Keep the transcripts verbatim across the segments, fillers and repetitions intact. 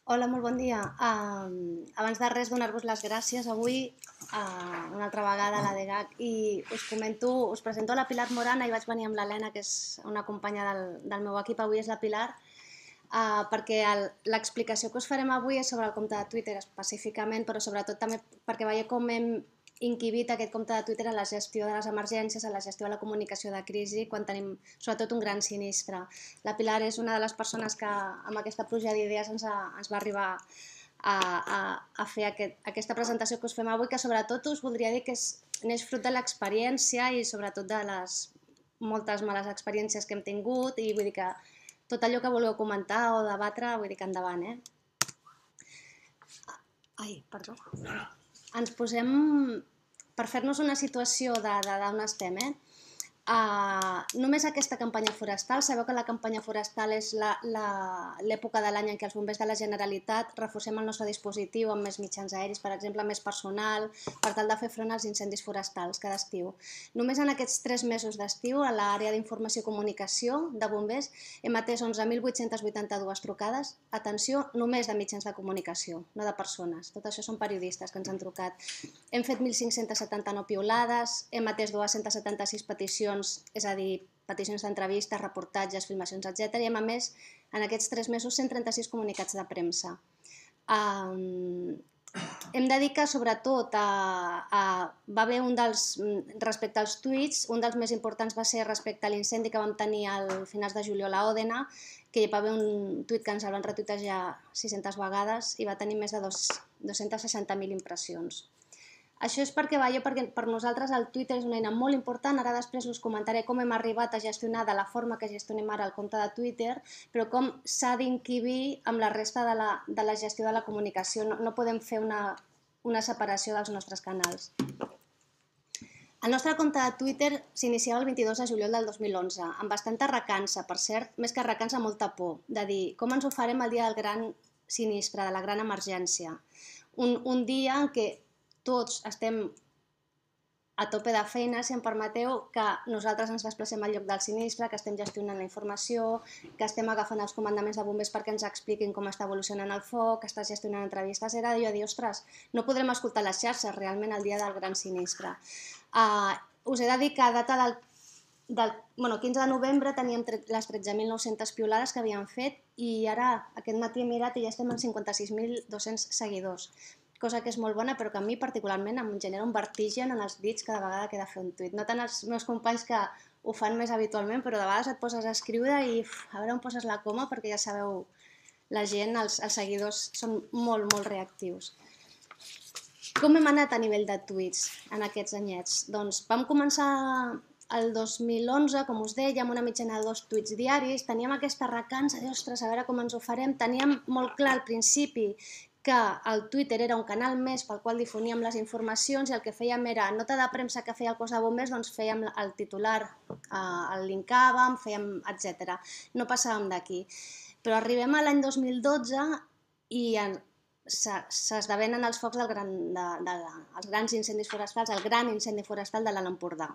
Hola, molt bon dia. Um, abans de res, donar-vos les gràcies avui, uh, una altra vegada a la D G A C, i us comento, us presento la Pilar Morana, i vaig venir amb l'Helena, que és una companya del, del meu equip, avui és la Pilar, uh, perquè l'explicació que us farem avui és sobre el compte de Twitter específicament, però sobretot també perquè veieu com hem inquibit aquest compte de Twitter a la gestió de les emergències, a la gestió de la comunicació de crisi, quan tenim sobretot un gran sinistre. La Pilar és una de les persones que amb aquesta pluja d'idees ens, a, ens va arribar a, a, a fer aquest, aquesta presentació que us fem avui, que sobretot us voldria dir que és, neix fruit de l'experiència i sobretot de les moltes males experiències que hem tingut, i vull dir que tot allò que vulgueu comentar o debatre, vull dir que endavant, eh? Ai, perdó. Ens posem, per fer-nos una situació d'on estem, eh? Uh, només aquesta campanya forestal, sabeu que la campanya forestal és l'època de l'any en què els bombers de la Generalitat reforcem el nostre dispositiu amb més mitjans aeris, per exemple, més personal, per tal de fer front als incendis forestals cada estiu. Només en aquests tres mesos d'estiu, a l'àrea d'informació i comunicació de bombers, hem atès onze mil vuit-cents vuitanta-dues trucades, atenció, només de mitjans de comunicació, no de persones. Tot això són periodistes que ens han trucat. Hem fet mil cinc-cents setanta-nou piulades, hem atès dos-cents setanta-sis peticions, és a dir, peticions d'entrevistes, reportatges, filmacions, etcètera, i hem emès en aquests tres mesos cent trenta-sis comunicats de premsa. Um, hem de dir que sobretot a, a, va haver un dels, respecte als tuits, un dels més importants va ser respecte a l'incendi que vam tenir al finals de juliol a Òdena, que hi va haver un tuit que ens el van retuitejar sis-centes vegades i va tenir més de dos-centes seixanta mil impressions. Això és perquè, veieu, perquè per nosaltres el Twitter és una eina molt important. Ara després us comentaré com hem arribat a gestionar de la forma que gestionem ara el compte de Twitter, però com s'ha d'inquibir amb la resta de la, de la gestió de la comunicació. No, no podem fer una, una separació dels nostres canals. El nostre compte de Twitter s'iniciava el vint-i-dos de juliol del dos mil onze, amb bastanta recança, per cert, més que recança, molta por, de dir com ens ho farem el dia del gran sinistre, de la gran emergència. Un, un dia en què tots estem a tope de feina, si em permeteu, que nosaltres ens desplacem al lloc del sinistre, que estem gestionant la informació, que estem agafant els comandaments de bombers perquè ens expliquin com està evolucionant el foc, que està gestionant entrevistes. Era jo a dir, ostres, no podrem escoltar les xarxes realment el dia del gran sinistre. Uh, us he de dir que a data del del bueno, quinze de novembre teníem les tretze mil nou-centes piulades que havíem fet, i ara aquest matí he mirat i ja estem en cinquanta-sis mil dos-cents seguidors, cosa que és molt bona, però que a mi particularment em genera un vertigen en els dits cada vegada que he de fer un tuit. No tant els meus companys, que ho fan més habitualment, però de vegades et poses a escriure i uf, a veure on poses la coma, perquè ja sabeu, la gent, els, els seguidors són molt, molt reactius. Com hem anat a nivell de tuits en aquests anyets? Doncs vam començar el dos mil onze, com us deia, amb una mitjana de dos tuits diaris. Teníem aquesta recança de, ostres, a veure com ens ho farem. Teníem molt clar al principi que el Twitter era un canal més pel qual difoníem les informacions, i el que fèiem era, nota de premsa que feia el cos de bombers, doncs fèiem el titular, el linkàvem, fèiem, etcètera. No passàvem d'aquí. Però arribem a l'any dos mil dotze i s'esdevenen els focs del gran, de, de, els grans incendis forestals, el gran incendi forestal de l'Alt Empordà.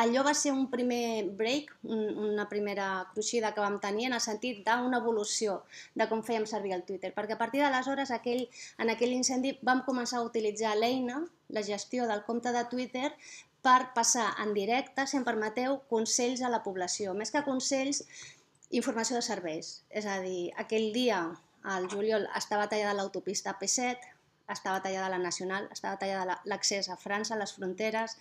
Allò va ser un primer break, una primera cruixida que vam tenir, en el sentit d'una evolució de com fèiem servir el Twitter, perquè a partir d'aleshores, aquell, en aquell incendi, vam començar a utilitzar l'eina, la gestió del compte de Twitter, per passar en directe, si em permeteu, consells a la població. Més que consells, informació de serveis. És a dir, aquell dia, al juliol, estava tallada l'autopista A P set, estava tallada la Nacional, estava tallada l'accés a França, a les fronteres.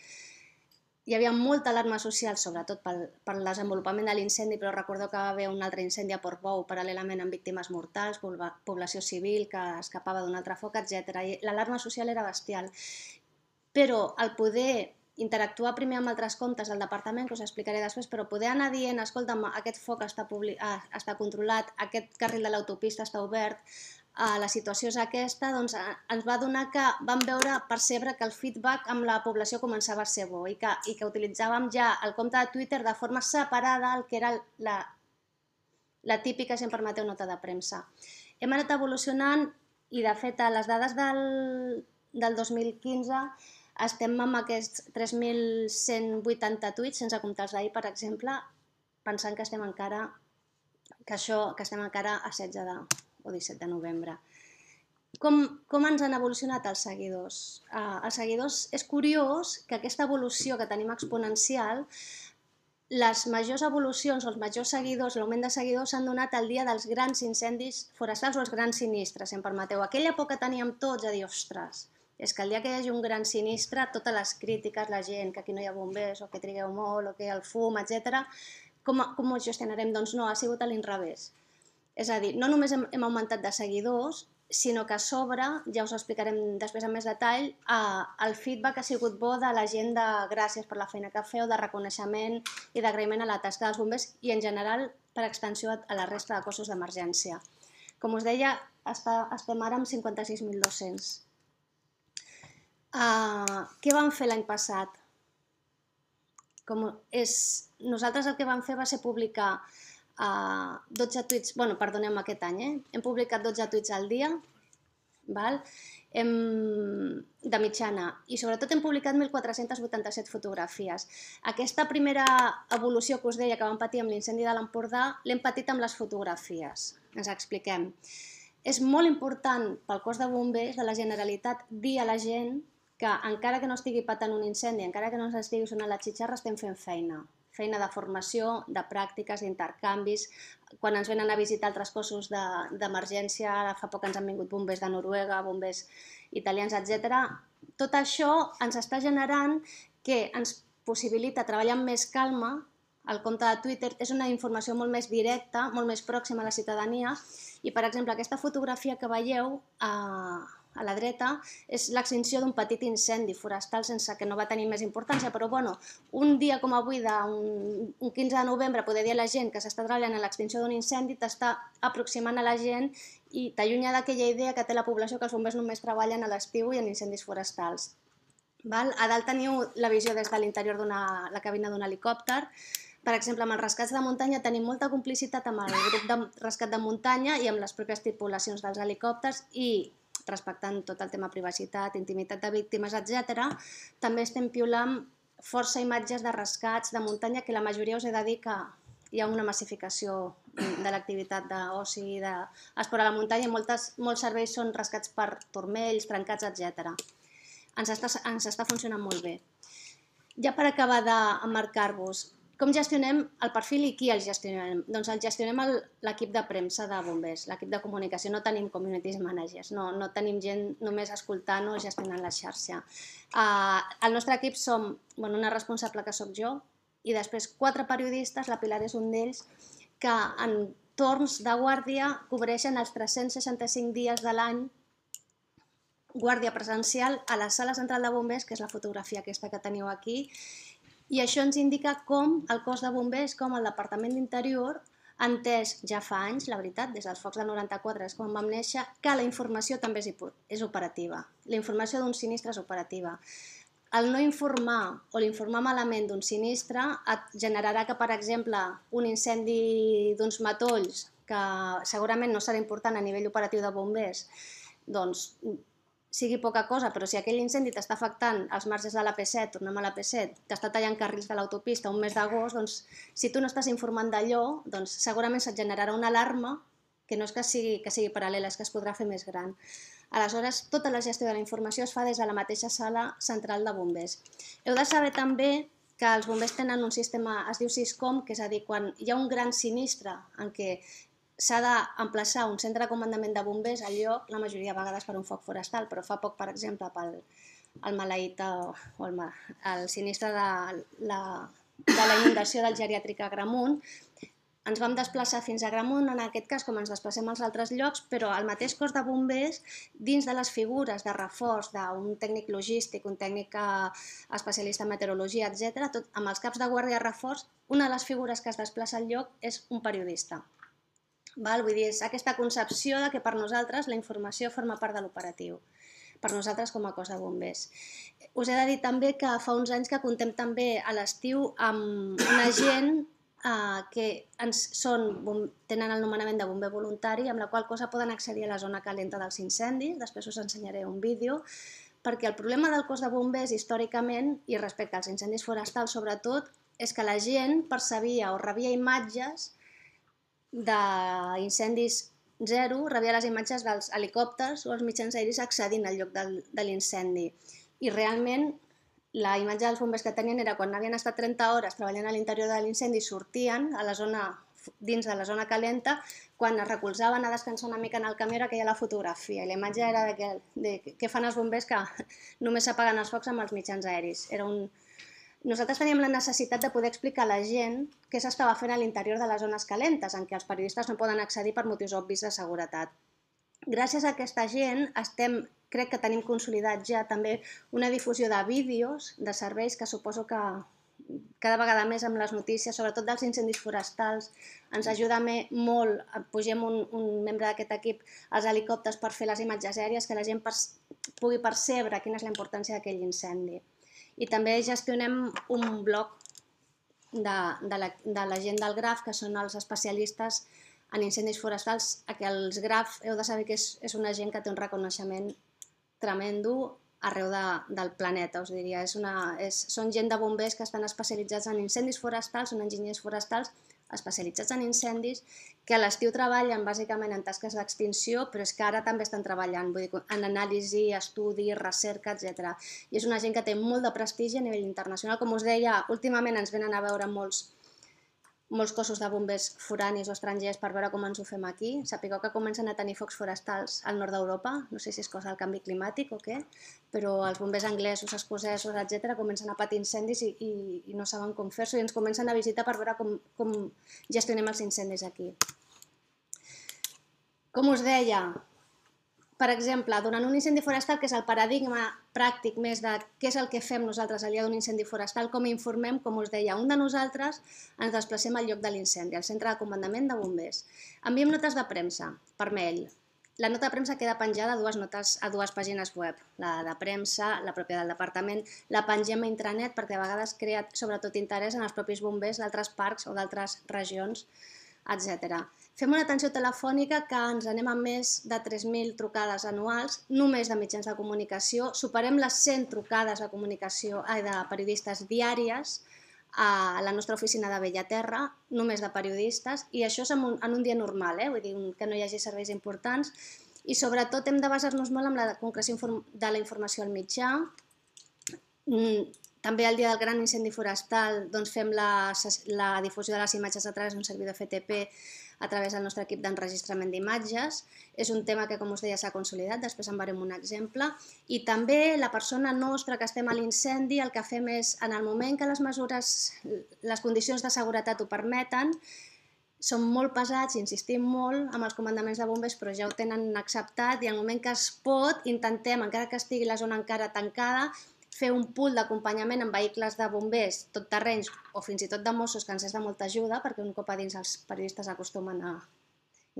Hi havia molta alarma social, sobretot pel, pel desenvolupament de l'incendi, però recordeu que va haver un altre incendi a Portbou, paral·lelament amb víctimes mortals, població civil que escapava d'un altre foc, etcètera. I l'alarma social era bestial. Però el poder interactuar primer amb altres comptes del departament, que us explicaré després, però poder anar dient, escolta'm, aquest foc està, està controlat, aquest carril de l'autopista està obert, la situació és aquesta, doncs ens va donar que vam veure, percebre que el feedback amb la població començava a ser bo, i que, i que utilitzàvem ja el compte de Twitter de forma separada al que era la, la típica, si em permeteu, nota de premsa. Hem anat evolucionant, i de fet a les dades del, del dos mil quinze estem amb aquests tres mil cent vuitanta tuits, sense comptar els d'ahir, per exemple, pensant que estem encara, que això, que estem encara a setze de o disset de novembre. Com, com ens han evolucionat els seguidors? Uh, els seguidors, és curiós que aquesta evolució que tenim exponencial, les majors evolucions o els majors seguidors, l'augment de seguidors s'han donat el dia dels grans incendis forestals o els grans sinistres, si em permeteu. Aquella por que teníem tots a dir, ostres, és que el dia que hi hagi un gran sinistre, totes les crítiques, la gent, que aquí no hi ha bombers, o que trigueu molt, o que el fum, etcètera, com, com ho gestionarem? Doncs no, ha sigut a l'inrevés. És a dir, no només hem, hem augmentat de seguidors, sinó que a sobre, ja us ho explicarem després amb més detall, eh, el feedback ha sigut bo de la gent de gràcies per la feina que feu, de reconeixement i d'agraïment a la tasca dels bombers i en general per extensió a la resta de cossos d'emergència. Com us deia, està, estem ara amb cinquanta-sis mil dos-cents. Uh, què vam fer l'any passat? Com és, nosaltres el que vam fer va ser publicar Uh, dotze tuits, bueno, perdoneu aquest any, eh? Hem publicat dotze tuits al dia, val? Hem, de mitjana, i sobretot hem publicat mil quatre-cents vuitanta-set fotografies. Aquesta primera evolució que us deia que vam patir amb l'incendi de l'Empordà, l'hem patit amb les fotografies. Ens expliquem. És molt important pel cos de bombers de la Generalitat dir a la gent que encara que no estigui patant un incendi, encara que no s'estigui sonant la xitxarra, estem fent feina. Feina de formació, de pràctiques, d'intercanvis. Quan ens venen a visitar altres cossos d'emergència, ara fa poc ens han vingut bombers de Noruega, bombers italians, etcètera. Tot això ens està generant que ens possibilita treballar amb més calma. El compte de Twitter és una informació molt més directa, molt més pròxima a la ciutadania i, per exemple, aquesta fotografia que veieu a, a la dreta és l'extinció d'un petit incendi forestal sense que no va tenir més importància, però bueno, un dia com avui, un, un quinze de novembre, poder dir a la gent que s'està treballant en l'extinció d'un incendi t'està aproximant a la gent i t'allunya d'aquella idea que té la població que els bombers només treballen a l'estiu i en incendis forestals. Val? A dalt teniu la visió des de l'interior de la cabina d'un helicòpter. Per exemple, amb els rescats de muntanya tenim molta complicitat amb el grup de rescat de muntanya i amb les pròpies tripulacions dels helicòpters i, respectant tot el tema privacitat, intimitat de víctimes, etcètera, també estem piulant força imatges de rescats de muntanya que la majoria us he de dir que hi ha una massificació de l'activitat d'oci i d'esport a la muntanya i moltes, molts serveis són rescats per turmells, trencats, etcètera. Ens està, ens està funcionant molt bé. Ja per acabar d'emmarcar-vos, com gestionem el perfil i qui el gestionem? Doncs el gestionem l'equip de premsa de bombers, l'equip de comunicació. No tenim community managers, no, no tenim gent només escoltant o gestionant la xarxa. Uh, el nostre equip som bueno, una responsable que sóc jo i després quatre periodistes, la Pilar és un d'ells, que en torns de guàrdia cobreixen els tres-cents seixanta-cinc dies de l'any guàrdia presencial a la sala central de bombers, que és la fotografia aquesta que teniu aquí, i això ens indica com el cos de bombers, com el Departament d'Interior, ha entès ja fa anys, la veritat, des dels focs del noranta-quatre, és quan vam néixer, que la informació també és operativa. La informació d'un sinistre és operativa. El no informar o l'informar malament d'un sinistre et generarà que, per exemple, un incendi d'uns matolls, que segurament no serà important a nivell operatiu de bombers, doncs sigui poca cosa, però si aquell incendi t'està afectant els marges de l'A P set, tornem a l'A P set, t'està tallant carrils de l'autopista un mes d'agost, doncs si tu no estàs informant d'allò, doncs segurament se't generarà una alarma que no és que sigui, que sigui paral·lela, és que es podrà fer més gran. Aleshores, tota la gestió de la informació es fa des de la mateixa sala central de bombers. Heu de saber també que els bombers tenen un sistema, es diu SISCOM, que és a dir, quan hi ha un gran sinistre en què s'ha d'emplaçar un centre de comandament de bombers al lloc, la majoria de vegades per un foc forestal, però fa poc, per exemple, pel el maleït o el, el sinistre de la, de la inundació del geriàtric a Agramunt, ens vam desplaçar fins a Agramunt, en aquest cas, com ens desplacem als altres llocs, però el mateix cos de bombers, dins de les figures de reforç d'un tècnic logístic, un tècnic especialista en meteorologia, etcètera, tot, amb els caps de guàrdia de reforç, una de les figures que es desplaça al lloc és un periodista. Val? Vull dir, és aquesta concepció de que per nosaltres la informació forma part de l'operatiu, per nosaltres com a cos de bombers. Us he de dir també que fa uns anys que contem també a l'estiu amb una gent eh, que ens són, tenen el nomenament de bomber voluntari, amb la qual cosa poden accedir a la zona calenta dels incendis, després us ensenyaré un vídeo, perquè el problema del cos de bombers històricament, i respecte als incendis forestals sobretot, és que la gent percebia o rebia imatges d'incendis zero rebia les imatges dels helicòpters o els mitjans aeris accedint al lloc de l'incendi. I realment la imatge dels bombers que tenien era quan havien estat trenta hores treballant a l'interior de l'incendi, sortien a la zona, dins de la zona calenta, quan es recolzaven a descansar una mica en el camió era aquella la fotografia. I la imatge era de, que, de què fan els bombers que només s'apaguen els focs amb els mitjans aeris. Era un... Nosaltres teníem la necessitat de poder explicar a la gent què s'estava fent a l'interior de les zones calentes, en què els periodistes no poden accedir per motius obvis de seguretat. Gràcies a aquesta gent estem, crec que tenim consolidat ja també una difusió de vídeos, de serveis que suposo que cada vegada més amb les notícies, sobretot dels incendis forestals, ens ajuda molt, pugem un, un membre d'aquest equip als helicòpters per fer les imatges aèries, que la gent pugui percebre quina és la importància d'aquell incendi. I també gestionem un blog de, de, la, de la gent del Graf, que són els especialistes en incendis forestals. Els Graf, heu de saber que és, és una gent que té un reconeixement tremendo arreu de, del planeta, us diria. És una, és, són gent de bombers que estan especialitzats en incendis forestals, són enginyers forestals especialitzats en incendis, que a l'estiu treballen bàsicament en tasques d'extinció, però és que ara també estan treballant vull dir, en anàlisi, estudi, recerca, etcètera. I és una gent que té molt de prestigi a nivell internacional. Com us deia, últimament ens venen a veure molts, molts cossos de bombers foranis o estrangers per veure com ens ho fem aquí. Sapigueu que comencen a tenir focs forestals al nord d'Europa, no sé si és cosa del canvi climàtic o què, però els bombers anglesos, escocesos, etcètera, comencen a patir incendis i, i, i no saben com fer-s'ho i ens comencen a visitar per veure com, com gestionem els incendis aquí. Com us deia, per exemple, durant un incendi forestal, que és el paradigma pràctic més de què és el que fem nosaltres al dia d'un incendi forestal, com informem, com us deia, un de nosaltres ens desplacem al lloc de l'incendi, al centre de comandament de bombers. Enviem notes de premsa per mail. La nota de premsa queda penjada a dues, notes, a dues pàgines web, la de premsa, la pròpia del departament, la pengem a intranet perquè a vegades crea sobretot interès en els propis bombers d'altres parcs o d'altres regions, etcètera. Fem una atenció telefònica que ens anem a més de tres mil trucades anuals, només de mitjans de comunicació. Superem les cent trucades de comunicació ai, de periodistes diàries a la nostra oficina de Bellaterra, només de periodistes, i això és en un, en un dia normal, eh? Vull dir que no hi hagi serveis importants. I sobretot hem de basar-nos molt en la concreció de la informació al mitjà. També el dia del gran incendi forestal doncs fem la, la difusió de les imatges a través d'un servidor F T P a través del nostre equip d'enregistrament d'imatges. És un tema que, com us deia, s'ha consolidat, després en veurem un exemple. I també la persona nostra que estem a l'incendi, el que fem és, en el moment que les mesures, les condicions de seguretat ho permeten, som molt pesats, insistim molt amb els comandaments de bombers, però ja ho tenen acceptat, i al moment que es pot, intentem, encara que estigui la zona encara tancada, fer un pool d'acompanyament amb vehicles de bombers, tot terrenys o fins i tot de Mossos, que ens és de molta ajuda, perquè un cop a dins els periodistes acostumen a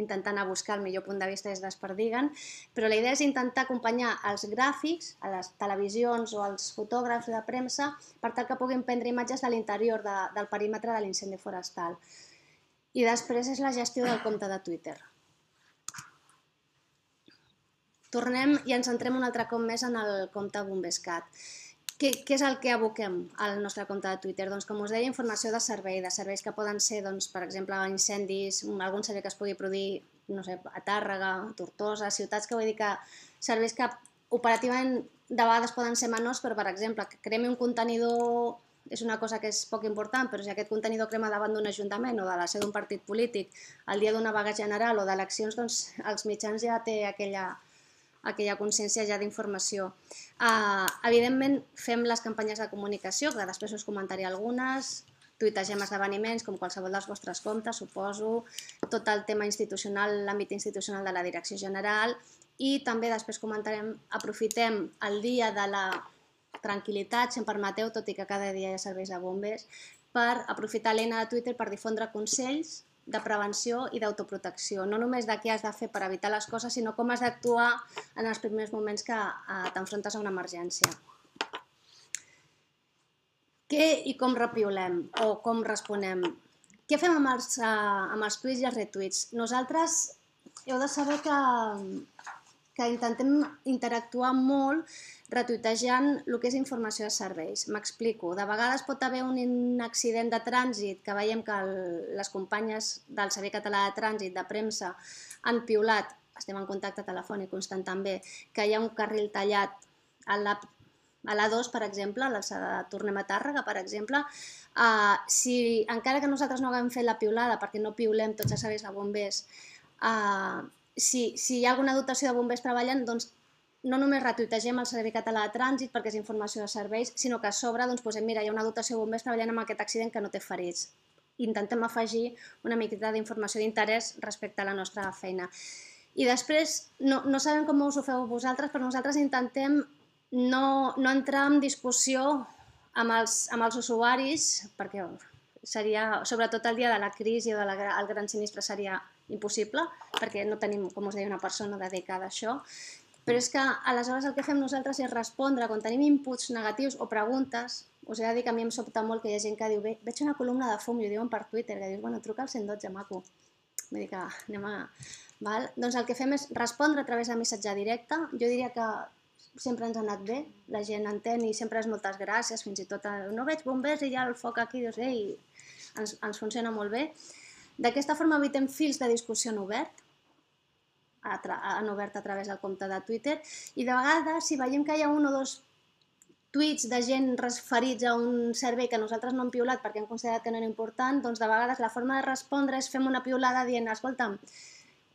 intentar anar a buscar el millor punt de vista des d'Esperdiguen, però la idea és intentar acompanyar els gràfics, a les televisions o als fotògrafs de premsa, per tal que puguin prendre imatges de l'interior de, del perímetre de l'incendi forestal. I després és la gestió del compte de Twitter. Tornem i ens centrem un altre cop més en el compte Bombescat. Què, què és el que aboquem al nostre compte de Twitter? Doncs, com us deia, informació de servei, de serveis que poden ser, doncs, per exemple, incendis, algun servei que es pugui produir, no sé, a Tàrrega, a Tortosa, ciutats que vull dir que serveis que operativament de vegades poden ser menors, però, per exemple, que cremi un contenidor és una cosa que és poc important, però si aquest contenidor crema davant d'un ajuntament o de la seu d'un partit polític el dia d'una vaga general o d'eleccions, doncs els mitjans ja té aquella aquella consciència ja d'informació. Uh, evidentment, fem les campanyes de comunicació, que després us comentaré algunes, tuitegem esdeveniments, com qualsevol dels vostres comptes, suposo, tot el tema institucional, l'àmbit institucional de la direcció general, i també després comentarem, aprofitem el dia de la tranquil·litat, si em permeteu, tot i que cada dia hi ha serveis de bombers, per aprofitar l'eina de Twitter per difondre consells de prevenció i d'autoprotecció, no només de què has de fer per evitar les coses, sinó com has d'actuar en els primers moments que t'enfrontes a una emergència. Què i com repiulem o com responem? Què fem amb els, amb els tuits i els retuits? Nosaltres heu de saber que, que intentem interactuar molt retuitejant el que és informació de serveis. M'explico. De vegades pot haver un accident de trànsit que veiem que el, les companyes del Servei Català de Trànsit, de premsa, han piulat, estem en contacte telefònic constant també, que hi ha un carril tallat a l'A dos, per exemple, a l'alçada de Tornem a Tàrrega, per exemple, si encara que nosaltres no haguem fet la piulada, perquè no piulem tots els serveis de bombers, si hi ha alguna dotació de bombers treballant, doncs no només retuitegem el Servei Català de Trànsit perquè és informació de serveis, sinó que a sobre posem, mira, hi ha una dotació de bombers treballant en aquest accident que no té ferits. Intentem afegir una miqueta d'informació d'interès respecte a la nostra feina. I després, no sabem com us ho feu vosaltres, però nosaltres intentem no entrar en discussió amb els usuaris, perquè seria, sobretot el dia de la crisi o del gran sinistre, seria impossible, perquè no tenim, com us deia, una persona dedicada a això. Però és que aleshores el que fem nosaltres és respondre quan tenim inputs negatius o preguntes. Us he de dir que a mi em sobta molt que hi ha gent que diu veig una columna de fum, i ho diuen per Twitter, que dius, bueno, truca al cent dotze, maco. Vull dir que anem a... Doncs el que fem és respondre a través de missatge directe. Jo diria que sempre ens ha anat bé, la gent entén i sempre és moltes gràcies, fins i tot no veig bombers i hi ha el foc aquí, dius, ei, ens funciona molt bé. D'aquesta forma evitem fils de discussió en obert, han obert a través del compte de Twitter, i de vegades, si veiem que hi ha un o dos tuits de gent referits a un servei que nosaltres no hem piulat perquè hem considerat que no era important, doncs de vegades la forma de respondre és fem una piulada dient, escolta'm,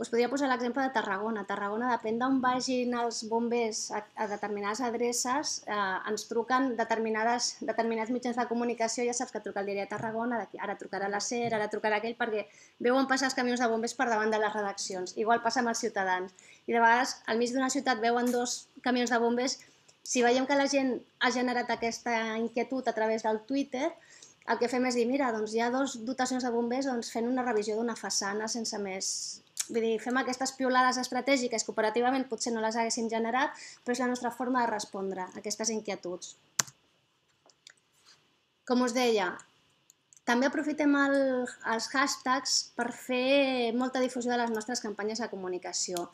us podria posar l'exemple de Tarragona. A Tarragona, depèn d'on vagin els bombers a determinades adreces, ens truquen determinats mitjans de comunicació, ja saps que truca el diari de Tarragona, ara trucarà la SER, ara trucarà aquell, perquè veuen passar els camions de bombers per davant de les redaccions. Igual passa amb els ciutadans. I de vegades, al mig d'una ciutat veuen dos camions de bombers. Si veiem que la gent ha generat aquesta inquietud a través del Twitter, el que fem és dir, mira, doncs hi ha dues dotacions de bombers fent una revisió d'una façana sense més... Vull dir, fem aquestes piulades estratègiques que operativament potser no les haguéssim generat, però és la nostra forma de respondre a aquestes inquietuds. Com us deia, també aprofitem els hashtags per fer molta difusió de les nostres campanyes de comunicació.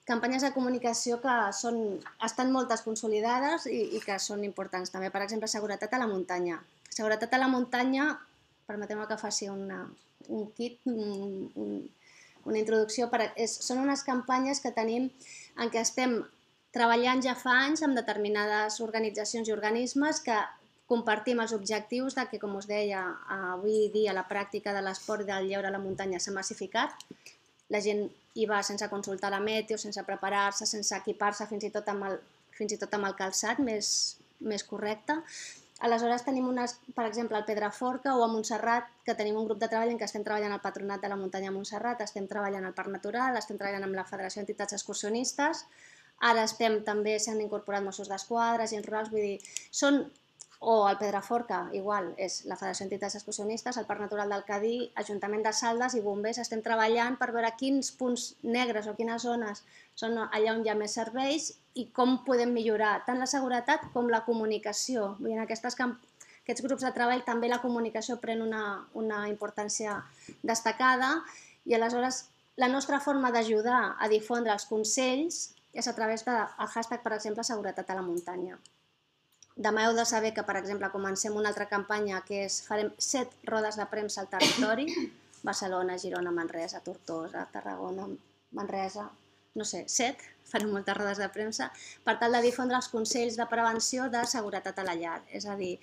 Campanyes de comunicació que estan moltes consolidades i que són importants també. Per exemple, seguretat a la muntanya. Seguretat a la muntanya, permeteu-me que faci un kit, una introducció, són unes campanyes que tenim en què estem treballant ja fa anys amb determinades organitzacions i organismes que compartim els objectius de que, com us deia, avui dia la pràctica de l'esport i del lleure a la muntanya s'ha massificat. La gent hi va sense consultar la meteo, sense preparar-se, sense equipar-se, fins i tot amb el calçat més correcte. Aleshores tenim, per exemple, al Pedraforca o a Montserrat, que tenim un grup de treball en què estem treballant al Patronat de la Muntanya a Montserrat, estem treballant al Parc Natural, estem treballant amb la Federació d'Entitats Excursionistes, ara estem també, s'han incorporat Mossos d'Esquadra, agents rurals, vull dir, són, o al Pedraforca, igual, és la Federació d'Entitats Excursionistes, el Parc Natural del Cadí, Ajuntament de Saldes i bombers, estem treballant per veure quins punts negres o quines zones són allà on hi ha més serveis i com podem millorar tant la seguretat com la comunicació. En aquests grups de treball també la comunicació pren una importància destacada i aleshores la nostra forma d'ajudar a difondre els consells és a través del hashtag, per exemple, seguretat a la muntanya. Demà heu de saber que, per exemple, comencem una altra campanya que és farem set rodes de premsa al territori, Barcelona, Girona, Manresa, Tortosa, Tarragona, Manresa, no sé, set, farem moltes rodes de premsa, per tal de difondre els consells de prevenció de seguretat a la llar. És a dir,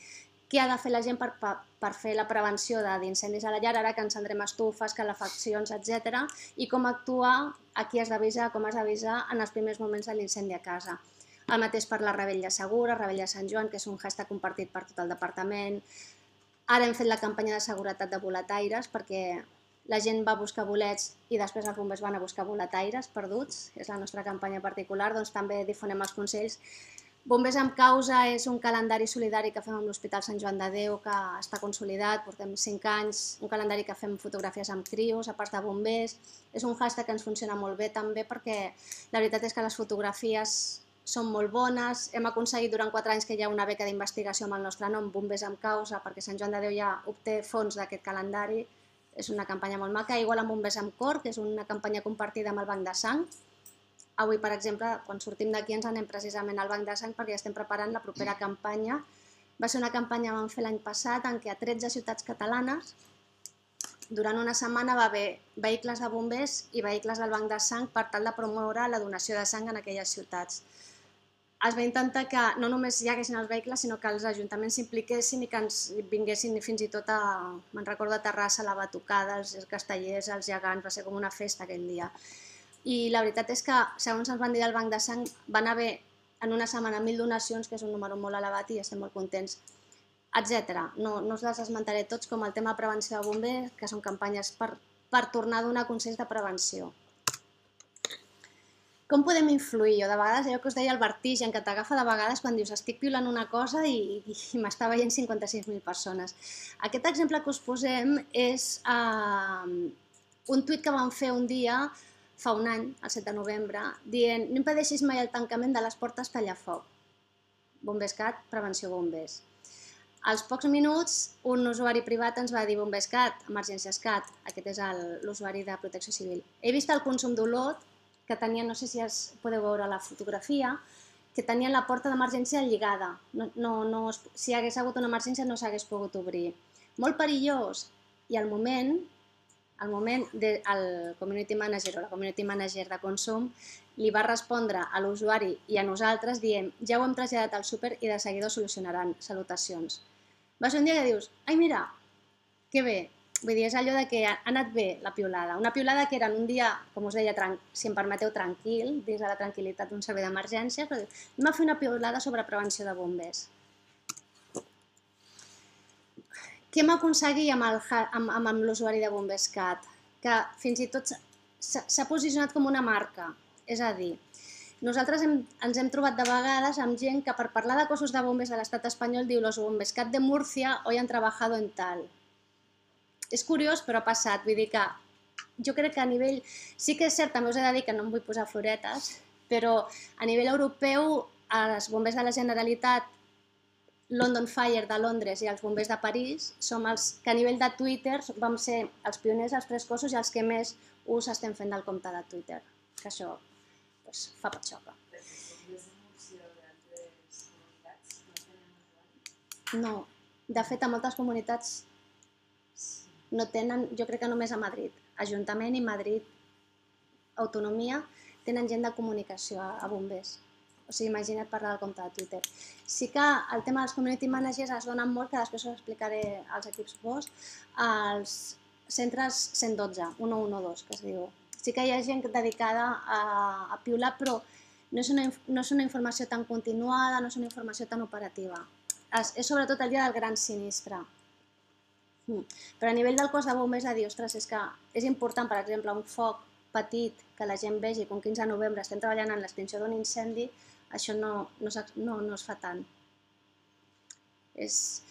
què ha de fer la gent per fer la prevenció d'incendis a la llar, ara que encendrem estufes, calefaccions, etcètera, i com actuar, a qui has d'avisar, com has d'avisar en els primers moments de l'incendi a casa. El mateix per la Rebella Segura, Rebella Sant Joan, que és un hashtag compartit per tot el departament. Ara hem fet la campanya de seguretat de boletaires perquè la gent va buscar bolets i després els bombers van a buscar boletaires perduts. És la nostra campanya particular, doncs també difonem els consells. Bombers amb causa és un calendari solidari que fem amb l'Hospital Sant Joan de Déu, que està consolidat, portem cinc anys, un calendari que fem fotografies amb crios, a part de bombers. És un hashtag que ens funciona molt bé també perquè la veritat és que les fotografies són molt bones. Hem aconseguit durant quatre anys que hi ha una beca d'investigació amb el nostre nom, Bombers amb causa, perquè Sant Joan de Déu ja obté fons d'aquest calendari. És una campanya molt maca. Igual amb Bombers amb cor, que és una campanya compartida amb el Banc de Sang. Avui, per exemple, quan sortim d'aquí ens anem precisament al Banc de Sang perquè estem preparant la propera campanya. Va ser una campanya que vam fer l'any passat en què a tretze ciutats catalanes durant una setmana va haver vehicles de bombers i vehicles del banc de sang per tal de promoure la donació de sang en aquelles ciutats. Es va intentar que no només hi haguessin els vehicles, sinó que els ajuntaments s'impliquessin i que ens vinguessin fins i tot a, me'n recordo, a Terrassa, la batucada, els castellers, els gegants, va ser com una festa aquell dia. I la veritat és que, segons ens van dir del banc de sang, van haver en una setmana mil donacions, que és un número molt elevat i estem molt contents, etcètera. No, no us les esmentaré tots, com el tema de prevenció de bombers, que són campanyes per, per tornar a donar consells de prevenció. Com podem influir? Jo de vegades, allò que us deia el vertigen, que t'agafa de vegades quan dius estic piulant una cosa i, i m'està veient cinquanta-sis mil persones. Aquest exemple que us posem és uh, un tuit que vam fer un dia, fa un any, el set de novembre, dient no impedeixis mai el tancament de les portes Tallafoc. Bombescat, prevenció bombers. Als pocs minuts, un usuari privat ens va dir Bombescat, Emergències Cat, aquest és l'usuari de Protecció Civil. He vist el consum d'Olot, que tenia, no sé si es podeu veure la fotografia, que tenia la porta d'emergència lligada. No, no, no, si hagués hagut una emergència no s'hagués pogut obrir. Molt perillós. I al moment, al moment de, el community manager o la community manager de consum li va respondre a l'usuari i a nosaltres dient ja ho hem traslladat al súper i de seguida ho solucionaran. Salutacions. Va ser un dia que dius, ai mira, que bé. Vull dir, és allò de que ha anat bé la piulada. Una piulada que era en un dia, com us deia, si em permeteu, tranquil, dins de la tranquil·litat d'un servei d'emergència, però anem a fer una piulada sobre prevenció de bombers. Què hem aconseguit amb, amb, amb l'usuari de Bombescat? Que fins i tot s'ha posicionat com una marca. És a dir, nosaltres hem, ens hem trobat de vegades amb gent que per parlar de cossos de bombers de l'estat espanyol diu los Bombescat de Múrcia hoy han trabajado en tal. És curiós, però ha passat. Vull dir que jo crec que a nivell... Sí que és cert, també us he de dir que no em vull posar floretes, però a nivell europeu, els bombers de la Generalitat, London Fire de Londres i els bombers de París som els que a nivell de Twitter vam ser els pioners, els tres cossos i els que més ús estem fent del compte de Twitter. Que això doncs, fa patxoca. No. De fet, a moltes comunitats no tenen, jo crec que només a Madrid, Ajuntament i Madrid, Autonomia, tenen gent de comunicació a bombers. O sigui, imagina't parlar del compte de Twitter. Sí que el tema dels community managers es dona molt, que després us explicaré als equips V O S, als centres cent dotze, cent dotze, que es diu. Sí que hi ha gent dedicada a, a piular, però no és, una, no és una informació tan continuada, no és una informació tan operativa. És, és sobretot el dia del gran sinistre. Però a nivell del cos de bombers a dir, ostres, és que és important, per exemple, un foc petit que la gent vegi que un quinze de novembre estem treballant en l'extinció d'un incendi, això no, no, no, no es fa tant. És...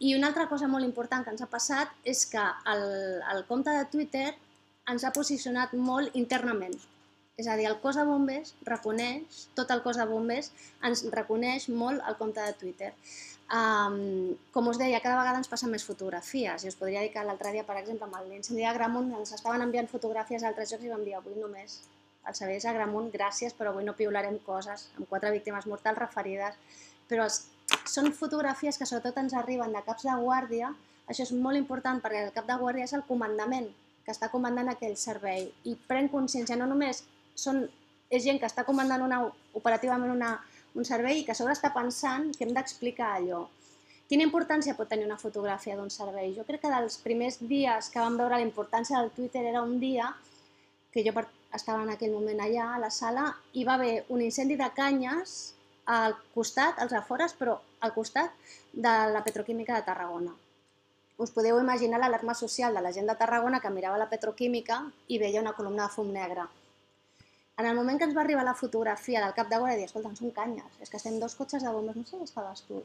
I una altra cosa molt important que ens ha passat és que el, el compte de Twitter ens ha posicionat molt internament. És a dir, el cos de bombers reconeix, tot el cos de bombers ens reconeix molt el compte de Twitter. Um, com us deia, cada vegada ens passen més fotografies i us podria dir que l'altre dia, per exemple, amb l'incendi d'Agramunt ens estaven enviant fotografies a altres llocs i vam dir avui només els serveis d'Agramunt, gràcies, però avui no piularem coses amb quatre víctimes mortals referides, però els, són fotografies que sobretot ens arriben de caps de guàrdia. Això és molt important perquè el cap de guàrdia és el comandament que està comandant aquell servei i pren consciència, no només són, és gent que està comandant una, operativament una un servei que a sobre està pensant que hem d'explicar allò. Quina importància pot tenir una fotografia d'un servei? Jo crec que dels primers dies que vam veure la importància del Twitter era un dia que jo estava en aquell moment allà a la sala i va haver un incendi de canyes al costat, als afores, però al costat de la petroquímica de Tarragona. Us podeu imaginar l'alarma social de la gent de Tarragona que mirava la petroquímica i veia una columna de fum negre. En el moment que ens va arribar la fotografia del cap de guàrdia, dir, escolta, són canyes, és que estem dos cotxes de bombers, no sé on estaves tu.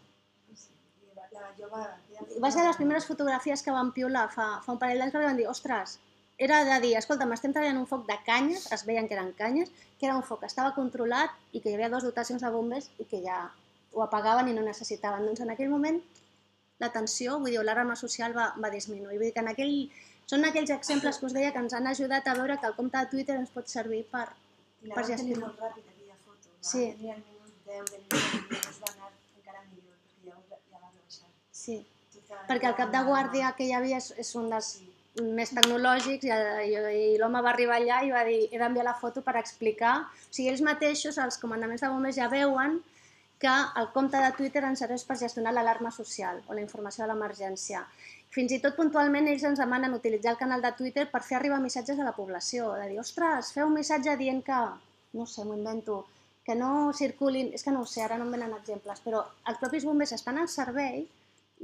Va ser les primeres fotografies que vam piular fa, fa un parell d'anys, perquè vam dir, ostres, era de dir, escolta, estem treballant un foc de canyes, es veien que eren canyes, que era un foc que estava controlat i que hi havia dues dotacions de bombers i que ja ho apagaven i no necessitaven. Doncs en aquell moment la tensió, vull dir, l'alarma social va, va disminuir. Vull dir que en aquell, són aquells exemples que us deia que ens han ajudat a veure que el compte de Twitter ens pot servir per I la vam tenir molt ràpid, aquella foto. Sí. Va tenir el minut deu de minut i es va anar encara millor, perquè ja, ja va rebaixar. Sí, perquè el cap de guàrdia que hi havia és, és un dels, més tecnològics i l'home va arribar allà i va dir he d'enviar la foto per explicar. O sigui, ells mateixos, els comandaments de bombers, ja veuen que el compte de Twitter ens serveix per gestionar l'alarma social o la informació de l'emergència. Fins i tot puntualment ells ens demanen utilitzar el canal de Twitter per fer arribar missatges a la població, de dir, ostres, feu un missatge dient que, no sé, m'ho invento, que no circulin, és que no ho sé, ara no em venen exemples, però els propis bombers estan al servei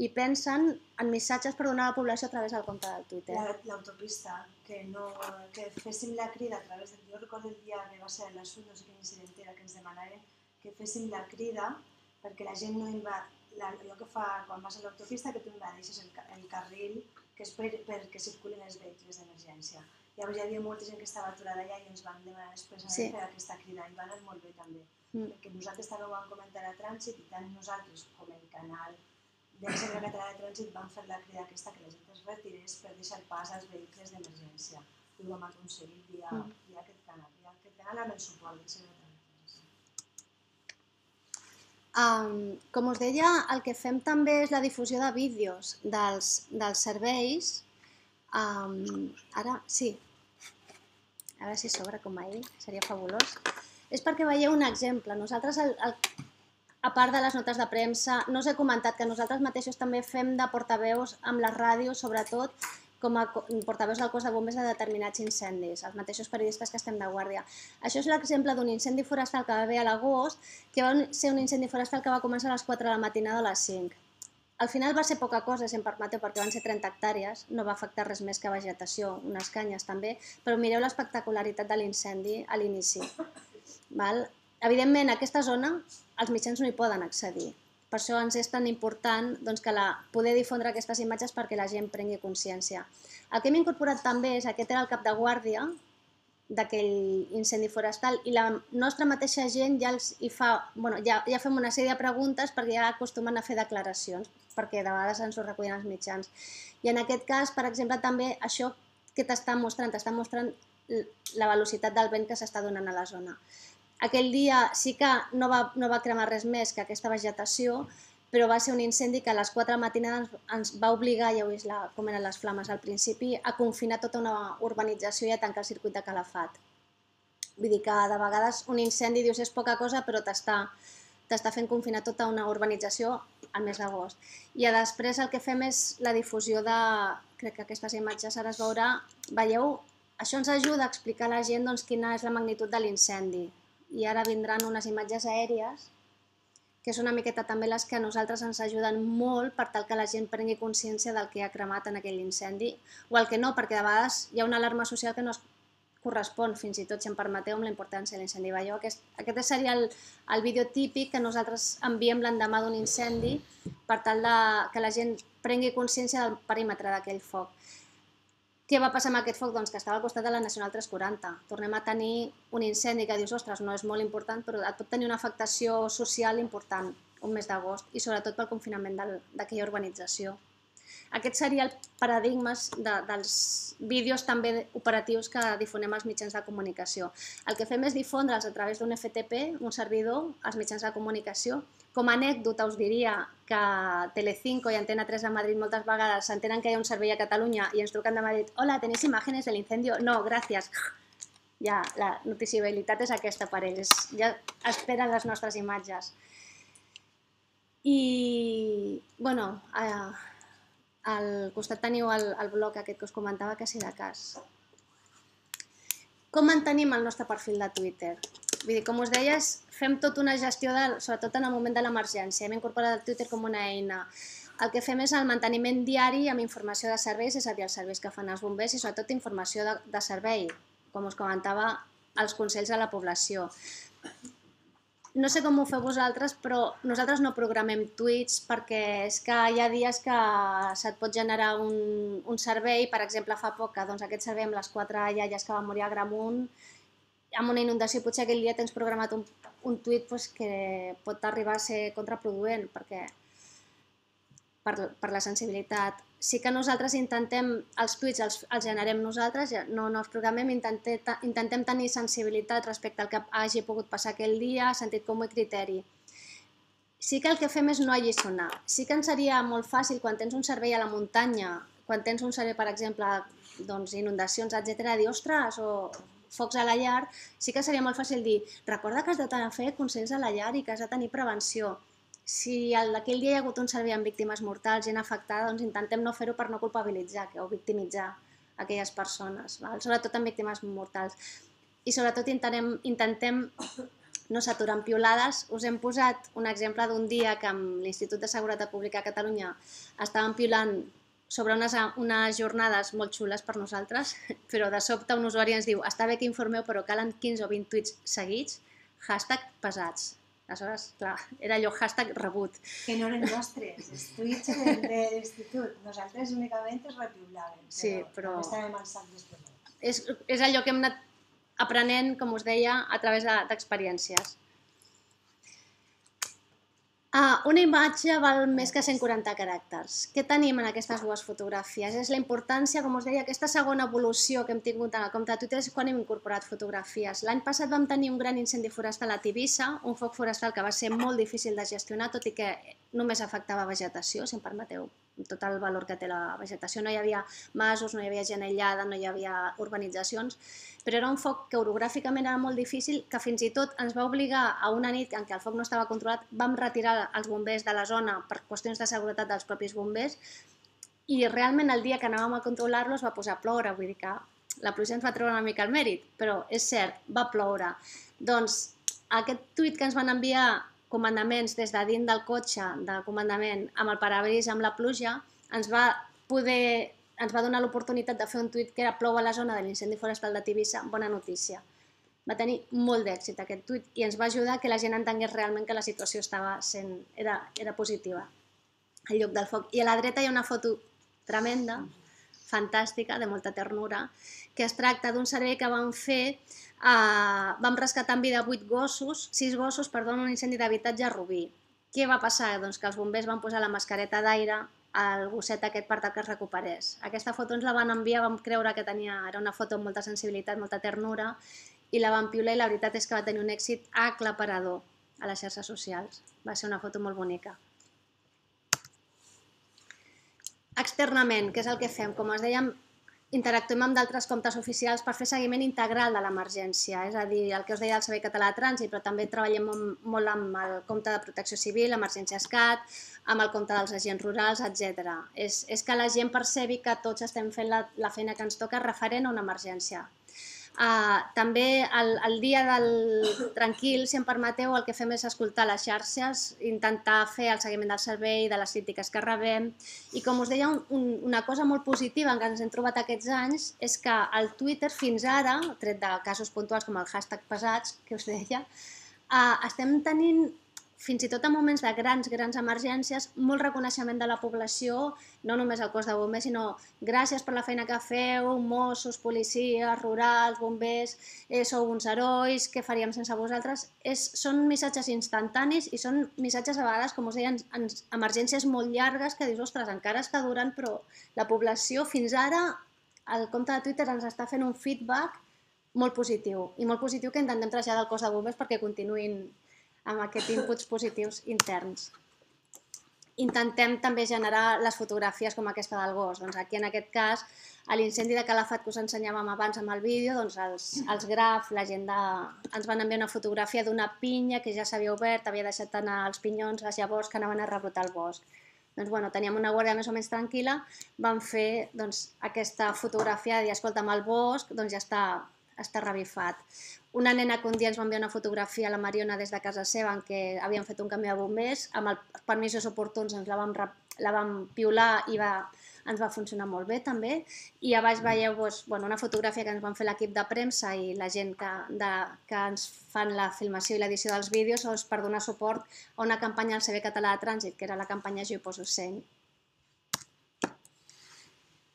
i pensen en missatges per donar a la població a través del compte del Twitter. L'autopista, que, no, que féssim la crida a través del... Jo recordo el dia que va ser a l'Assut, no sé quin incident era, que ens demanaven que féssim la crida perquè la gent no inva... La, allò que fa quan vas a l'autopista, que tu invadeixes el, el carril que és per, perquè circulin els vehicles d'emergència. Llavors hi havia molta gent que estava aturada allà i ens van demanar expressament sí. fer aquesta crida i va anar molt bé també. Mm. Perquè nosaltres també ho vam comentar a Trànsit i tant nosaltres com el canal de la Reserva Catalana de Trànsit van fer la crida aquesta que la gent es retirés per deixar pas als vehicles d'emergència. I ho vam aconseguir via, mm. via aquest canal, via aquest canal amb el suport del Reserva Catalana de Trànsit. Um, com us deia, el que fem també és la difusió de vídeos dels, dels serveis. Um, ara, sí, a veure si s'obre com ahir, seria fabulós. És perquè veieu un exemple. Nosaltres, el, el, a part de les notes de premsa, no us he comentat que nosaltres mateixos també fem de portaveus amb les ràdios, sobretot com a portaveus del cos de bombers de determinats incendis, els mateixos periodistes que estem de guàrdia. Això és l'exemple d'un incendi forestal que va haver a l'agost, que va ser un incendi forestal que va començar a les quatre de la matinada a les cinc. Al final va ser poca cosa, si em permeteu, perquè van ser trenta hectàrees, no va afectar res més que vegetació, unes canyes també, però mireu l'espectacularitat de l'incendi a l'inici. Evidentment, a aquesta zona els mitjans no hi poden accedir. Per això ens és tan important doncs, que la, poder difondre aquestes imatges perquè la gent prengui consciència. El que hem incorporat també és aquest era el cap de guàrdia d'aquell incendi forestal i la nostra mateixa gent ja, els hi fa, bueno, ja, ja fem una sèrie de preguntes perquè ja acostumen a fer declaracions, perquè de vegades ens ho recullen els mitjans. I en aquest cas, per exemple, també això que t'està mostrant, t'està mostrant la velocitat del vent que s'està donant a la zona. Aquell dia sí que no va, no va cremar res més que aquesta vegetació, però va ser un incendi que a les quatre de la matinada ens, ens va obligar, ja heu vist la, com eren les flames al principi, a confinar tota una urbanització i a tancar el circuit de calafat. Vull dir que de vegades un incendi dius és poca cosa, però t'està fent confinar tota una urbanització al mes d'agost. I després el que fem és la difusió de... Crec que aquestes imatges ara es veurà. Veieu? Això ens ajuda a explicar a la gent doncs, quina és la magnitud de l'incendi. I ara vindran unes imatges aèries, que és una miqueta també les que a nosaltres ens ajuden molt per tal que la gent prengui consciència del que ha cremat en aquell incendi, o el que no, perquè de vegades hi ha una alarma social que no es correspon, fins i tot, si em permeteu, amb la importància de l'incendi. Aquest, aquest seria el, el vídeo típic que nosaltres enviem l'endemà d'un incendi per tal de, que la gent prengui consciència del perímetre d'aquell foc. Què va passar amb aquest foc? Doncs que estava al costat de la Nacional tres quaranta. Tornem a tenir un incendi que dius, ostres, no és molt important, però et pot tenir una afectació social important un mes d'agost i sobretot pel confinament d'aquella urbanització. Aquest seria el paradigma de, dels vídeos també operatius que difonem als mitjans de comunicació. El que fem és difondre'ls a través d'un F T P, un servidor, als mitjans de comunicació. Com a anècdota us diria que Telecinco i Antena tres de Madrid moltes vegades s'entenen que hi ha un servei a Catalunya i ens truquen de Madrid, hola, ¿tenéis imágenes del incendio? No, gràcies. Ja, la noticiabilitat és aquesta per ells, ja esperen les nostres imatges. I, bueno, al costat teniu el, el blog aquest que us comentava, que si de cas. Com mantenim el nostre perfil de Twitter? Vull dir, com us deies, fem tota una gestió, de, sobretot en el moment de l'emergència. Hem incorporat el Twitter com una eina. El que fem és el manteniment diari amb informació de serveis, és a dir, els serveis que fan els bombers i sobretot informació de, de servei, com us comentava, els consells a la població. No sé com ho feu vosaltres, però nosaltres no programem tuits perquè és que hi ha dies que se't pot generar un, un servei, per exemple, fa poc, doncs aquest servei amb les quatre iaies que van morir a Gramunt, amb una inundació, potser aquell dia tens programat un, un tuit pues, que pot arribar a ser contraproduent perquè, per, per la sensibilitat. Sí que nosaltres intentem, els tuits els, els generem nosaltres, no, no els programem, intentem, intentem tenir sensibilitat respecte al que hagi pogut passar aquell dia, sentit comú i criteri. Sí que el que fem és no alliçonar. Sí que ens seria molt fàcil quan tens un servei a la muntanya, quan tens un servei, per exemple, inundacions, etcètera, dir, ostres, o focs a la llar, sí que seria molt fàcil dir, recorda que has de fer consells a la llar i que has de tenir prevenció. Si aquell dia hi ha hagut un servei amb víctimes mortals, gent afectada, doncs intentem no fer-ho per no culpabilitzar o victimitzar aquelles persones, sobretot amb víctimes mortals. I sobretot intentem no s'aturen piolades. Us hem posat un exemple d'un dia que amb l'Institut de Seguretat Pública a Catalunya estàvem piolant sobre unes jornades molt xules per nosaltres, però de sobte un usuari ens diu està bé que informeu, però calen quinze o vint tuits seguits, hashtag pesats. Aleshores, clar, era allò hashtag rebut. Que no eren nostres, els tuits de l'institut. Nosaltres únicament els repiulàvem, però estàvem al sac després. És allò que hem anat aprenent, com us deia, a través d'experiències. Una imatge val més que cent quaranta caràcters. Què tenim en aquestes dues fotografies? És la importància, com us deia, aquesta segona evolució que hem tingut en el compte de Twitter és quan hem incorporat fotografies. L'any passat vam tenir un gran incendi forestal a Tivissa, un foc forestal que va ser molt difícil de gestionar, tot i que només afectava vegetació, si em permeteu, tot el valor que té la vegetació. No hi havia masos, no hi havia gent aïllada, no hi havia urbanitzacions, però era un foc que orogràficament era molt difícil, que fins i tot ens va obligar a una nit en què el foc no estava controlat, vam retirar els bombers de la zona per qüestions de seguretat dels propis bombers i realment el dia que anàvem a controlar-lo es va posar a ploure, vull dir que la pluja ens va treure una mica el mèrit, però és cert, va ploure. Doncs aquest tuit que ens van enviar comandaments des de dins del cotxe de comandament amb el parabrís amb la pluja ens va poder ens va donar l'oportunitat de fer un tuit que era plou a la zona de l'incendi forestal de Tivissa, bona notícia. Va tenir molt d'èxit aquest tuit i ens va ajudar que la gent entengués realment que la situació estava sent, era, era positiva al lloc del foc. I a la dreta hi ha una foto tremenda, fantàstica, de molta ternura, que es tracta d'un servei que vam fer, eh, vam rescatar en vida vuit gossos, sis gossos, perdó, en un incendi d'habitatge a Rubí. Què va passar? Doncs que els bombers van posar la mascareta d'aire al gosset aquest per tal que es recuperés. Aquesta foto ens la van enviar, vam creure que tenia, era una foto amb molta sensibilitat, molta ternura, i la vam piular i la veritat és que va tenir un èxit aclaparador a les xarxes socials. Va ser una foto molt bonica. Externament, què és el que fem? Com us dèiem, interactuem amb d'altres comptes oficials per fer seguiment integral de l'emergència, és a dir, el que us deia del Servei Català de Trànsit, però també treballem molt amb el compte de Protecció Civil, Emergències CAT, amb el compte dels agents rurals, etcètera. És, és que la gent percebi que tots estem fent la, la feina que ens toca referent a una emergència. Uh, també el, el dia del tranquil, si em permeteu, el que fem és escoltar les xarxes, intentar fer el seguiment del servei, de les crítiques que rebem, i com us deia, un, un, una cosa molt positiva que ens hem trobat aquests anys és que el Twitter fins ara, tret de casos puntuals com el hashtag pesats, que us deia, uh, estem tenint fins i tot en moments de grans, grans emergències, molt reconeixement de la població, no només el cos de bombers, sinó gràcies per la feina que feu, Mossos, policies, rurals, bombers, eh, sou uns herois, què faríem sense vosaltres? És, són missatges instantanis i són missatges a vegades, com us deia, en, en emergències molt llargues que dius, ostres, encara està durant, però la població fins ara, el compte de Twitter ens està fent un feedback molt positiu i molt positiu que intentem traslladar al cos de bombers perquè continuïn amb aquests inputs positius interns. Intentem també generar les fotografies com aquesta del gos. Doncs aquí, en aquest cas, a l'incendi de Calafat que us ensenyàvem abans amb el vídeo, doncs els, els grafs, la gent de... ens van enviar una fotografia d'una pinya que ja s'havia obert, havia deixat anar els pinyons, les llavors que anaven a rebrotar el bosc. Doncs, bueno, teníem una guàrdia més o menys tranquil·la, vam fer doncs, aquesta fotografia de dir, escolta, amb el bosc doncs ja està, està revifat. Una nena que un dia ens va enviar una fotografia a la Mariona des de casa seva en què havien fet un camió de bombers, amb els permisos oportuns ens la vam, la vam piular i va, ens va funcionar molt bé també. I a baix veieu doncs, bueno, una fotografia que ens van fer l'equip de premsa i la gent que, de, que ens fan la filmació i l'edició dels vídeos doncs, per donar suport a una campanya del Servei Català de Trànsit, que era la campanya Jo hi poso seny.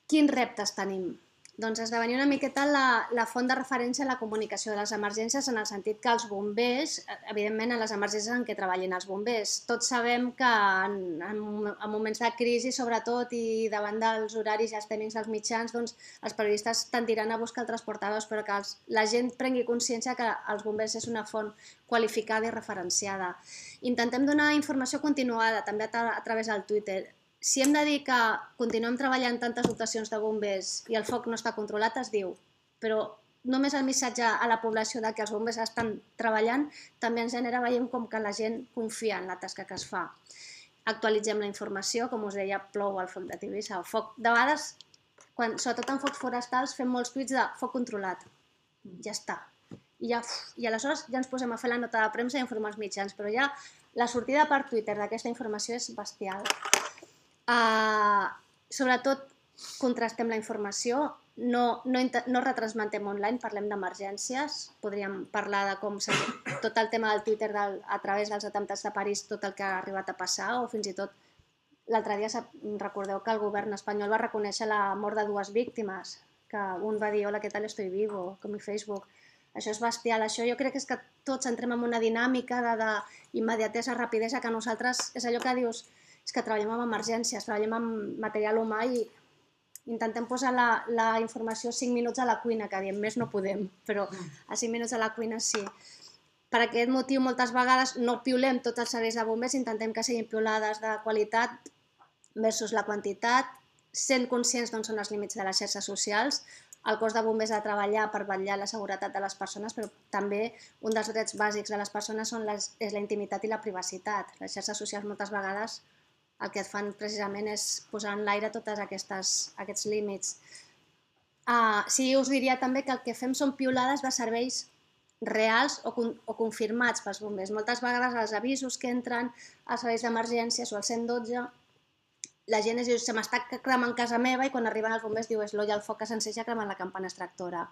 Quins reptes tenim? Doncs esdevenir una miqueta la, la font de referència a la comunicació de les emergències en el sentit que els bombers, evidentment en les emergències en què treballin els bombers, tots sabem que en, en, en moments de crisi sobretot i davant dels horaris i els tècnics dels mitjans, doncs els periodistes tendiran a buscar altres portaveus, però que els, la gent prengui consciència que els bombers és una font qualificada i referenciada. Intentem donar informació continuada també a, a través del Twitter. si hem de dir que continuem treballant tantes dotacions de bombers i el foc no està controlat, es diu, però només el missatge a la població de que els bombers estan treballant també ens genera, veiem com que la gent confia en la tasca que es fa. Actualitzem la informació, com us deia, plou el foc de Tivissa. El foc, de vegades, quan, sobretot en focs forestals, fem molts tuits de foc controlat. Ja està. I, ja, I aleshores ja ens posem a fer la nota de premsa i informar els mitjans, però ja la sortida per Twitter d'aquesta informació és bestial. Uh, sobretot, contrastem la informació, no, no, no retransmetem online, parlem d'emergències, podríem parlar de com tot el tema del Twitter del, a través dels atemptats de París, tot el que ha arribat a passar, o fins i tot l'altre dia recordeu que el govern espanyol va reconèixer la mort de dues víctimes, que un va dir, hola, què tal, estoy vivo, com i Facebook. Això és bestial, això jo crec que és que tots entrem en una dinàmica d'immediatesa, rapidesa, que nosaltres, és allò que dius, és que treballem amb emergències, treballem amb material humà i intentem posar la, la informació cinc minuts a la cuina, que diem, més no podem, però a cinc minuts a la cuina sí. Per aquest motiu, moltes vegades no piulem tots els serveis de bombers, intentem que siguin piulades de qualitat versus la quantitat, sent conscients d'on són els límits de les xarxes socials. El cos de bombers ha de treballar per vetllar la seguretat de les persones, però també un dels drets bàsics de les persones són les, és la intimitat i la privacitat. Les xarxes socials moltes vegades el que et fan precisament és posar en l'aire tots aquests límits. Uh, sí, us diria també que el que fem són piulades de serveis reals o, o confirmats pels bombers. Moltes vegades els avisos que entren als serveis d'emergències o al cent dotze, la gent es diu, se m'està cremant casa meva, i quan arriben els bombers diu, és l'olla al foc que s'enceja cremant la campana extractora.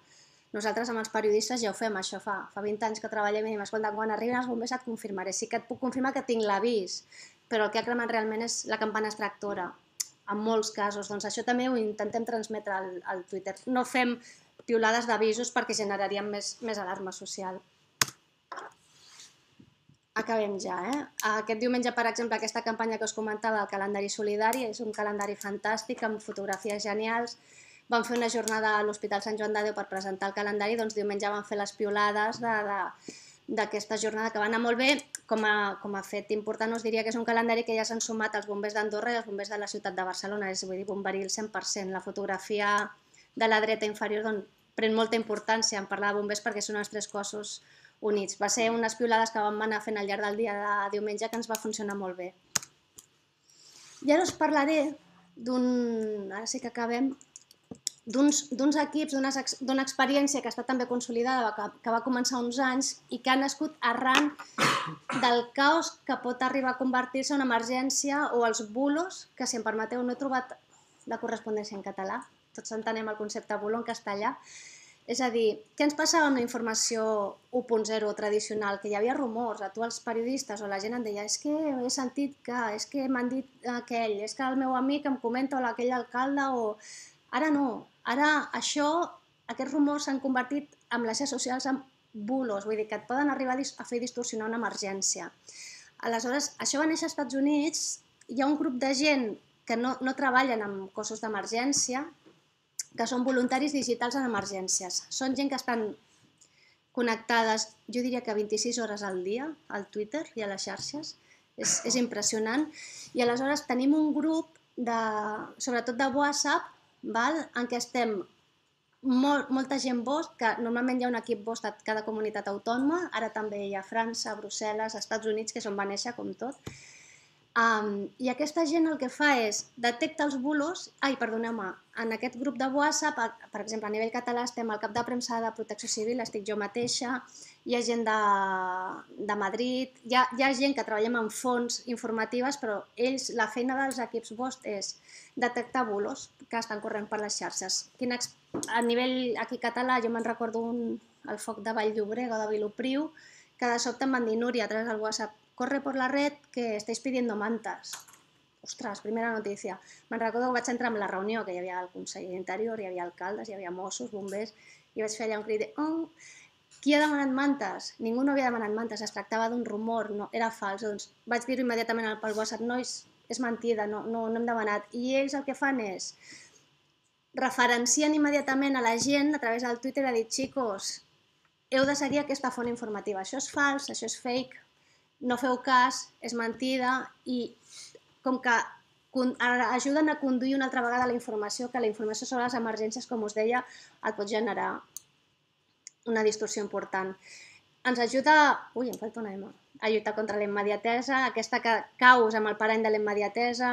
Nosaltres amb els periodistes ja ho fem, això fa, fa vint anys que treballem i diem, escolta, quan arriben els bombers et confirmaré, sí que et puc confirmar que tinc l'avís, però el que ha cremat realment és la campana extractora, en molts casos. Doncs això també ho intentem transmetre al, al Twitter. No fem piulades d'avisos perquè generaríem més, més alarma social. Acabem ja, eh? Aquest diumenge, per exemple, aquesta campanya que us comentava, el calendari solidari, és un calendari fantàstic, amb fotografies genials. Vam fer una jornada a l'Hospital Sant Joan de Déu per presentar el calendari, doncs diumenge vam fer les piulades de... de d'aquesta jornada, que va anar molt bé. Com a, com a fet important us diria que és un calendari que ja s'han sumat els bombers d'Andorra i els bombers de la ciutat de Barcelona, és, vull dir, bomberí el cent per cent. La fotografia de la dreta inferior doncs, pren molta importància en parlar de bombers perquè són els tres cossos units. Va ser unes piulades que vam anar fent al llarg del dia de diumenge que ens va funcionar molt bé. I ara us parlaré d'un... ara sí que acabem... d'uns equips, d'una experiència que està també consolidada, que, que va començar uns anys i que ha nascut arran del caos que pot arribar a convertir-se en una emergència, o els bulos, que si em permeteu no he trobat la correspondència en català, tots entenem el concepte bulo en castellà. És a dir, què ens passava amb la informació u punt zero tradicional? Que hi havia rumors, a tu els periodistes o la gent em deia, és que he sentit que, és que m'han dit aquell, és que el meu amic em comenta, o aquell alcalde, o... Ara no, ara això, aquests rumors s'han convertit en les xarxes socials en bulos, vull dir que et poden arribar a fer distorsionar una emergència. Aleshores, això va néixer als Estats Units, hi ha un grup de gent que no, no treballen amb cossos d'emergència, que són voluntaris digitals en emergències. Són gent que estan connectades, jo diria que vint-i-sis hores al dia, al Twitter i a les xarxes, és, és impressionant. I aleshores tenim un grup, de, sobretot de WhatsApp, val? En què estem molt, molta gent bost, que normalment hi ha un equip bost a cada comunitat autònoma, ara també hi ha França, Brussel·les, Estats Units, que és on va néixer, com tot. Um, I aquesta gent el que fa és detecta els bulos. Ai, perdoneu-me, en aquest grup de WhatsApp, per exemple, a nivell català estem al cap de premsa de Protecció Civil, estic jo mateixa, hi ha gent de, de Madrid, hi ha, hi ha gent que treballem en fonts informatives, però ells, la feina dels equips bost és detectar bulos que estan corrent per les xarxes. Quin, a nivell aquí català, jo me'n recordo un, el foc de Vall-llobrega o de Vilopriu, que de sobte em van dir, Núria, a través del WhatsApp, corre por la red que estáis pidiendo mantas. Ostres, primera notícia. Me'n recordo que vaig entrar en la reunió, que hi havia el conseller d'Interior, hi havia alcaldes, hi havia Mossos, bombers, i vaig fer allà un crit de oh, qui ha demanat mantes? Ningú no havia demanat mantes, es tractava d'un rumor, no, era fals. Doncs vaig dir-ho immediatament pel WhatsApp, nois, és mentida, no, no, no hem demanat. I ells el que fan és referencien immediatament a la gent a través del Twitter, a dir, xicos, heu de seguir aquesta font informativa, això és fals, això és fake, no feu cas, és mentida, i com que ajuden a conduir una altra vegada la informació, que la informació sobre les emergències, com us deia, et pot generar una distorsió important. Ens ajuda, ui, em falta una M, a lluitar contra la immediatesa, aquesta que caus amb el parany de la immediatesa,